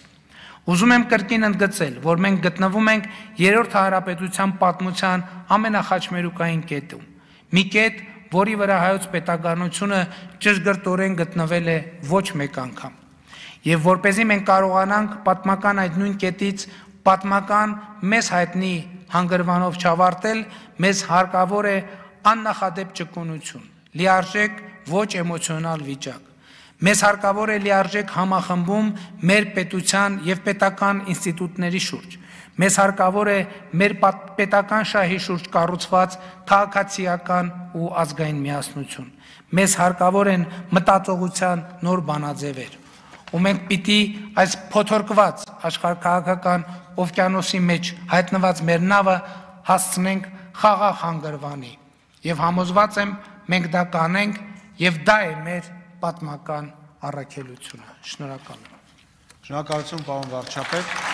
Ուզում եմ կրկին ընդգծել, որ մենք գտնվում ենք երրորդ հանրապետության պատմության ամենախաչմերուկային կետում։ Մի կետ, որի վրա հայոց պետականությունը ճշգրտորեն գտնվել է ոչ մեկ անգամ։ Եվ որպեսզի մենք կարողանանք պատմական այդ նույն կետից պատմական մեզ հայտնի հանգրվանով չավարտել, մեզ հարկավոր է աննախադեպ ճկունություն, լիարժեք ոչ էմոցիոնալ վիճակ։ Մեզ հարկավոր է լիարժեք համախմբում մեր պետության եւ պետական ինստիտուտների շուրջ։ Մեզ հարկավոր է մեր պետական շահի շուրջ կառուցված քաղաքացիական ու ազգային միասնություն։ Մեզ հարկավոր են մտածողության նոր բանաձևեր։ Ու մենք պիտի այս փոթորկված աշխարհքաղաքական օվկիանոսի մեջ հայտնված մեր նավը հասցնենք խաղաղ հանգրվանի։ Եվ համոզված եմ, մենք դա կանենք, եւ դա է մեր պատմական առաքելությունը։ Շնորհակալ եմ։ Շնորհակալություն, պարոն վարչապետ։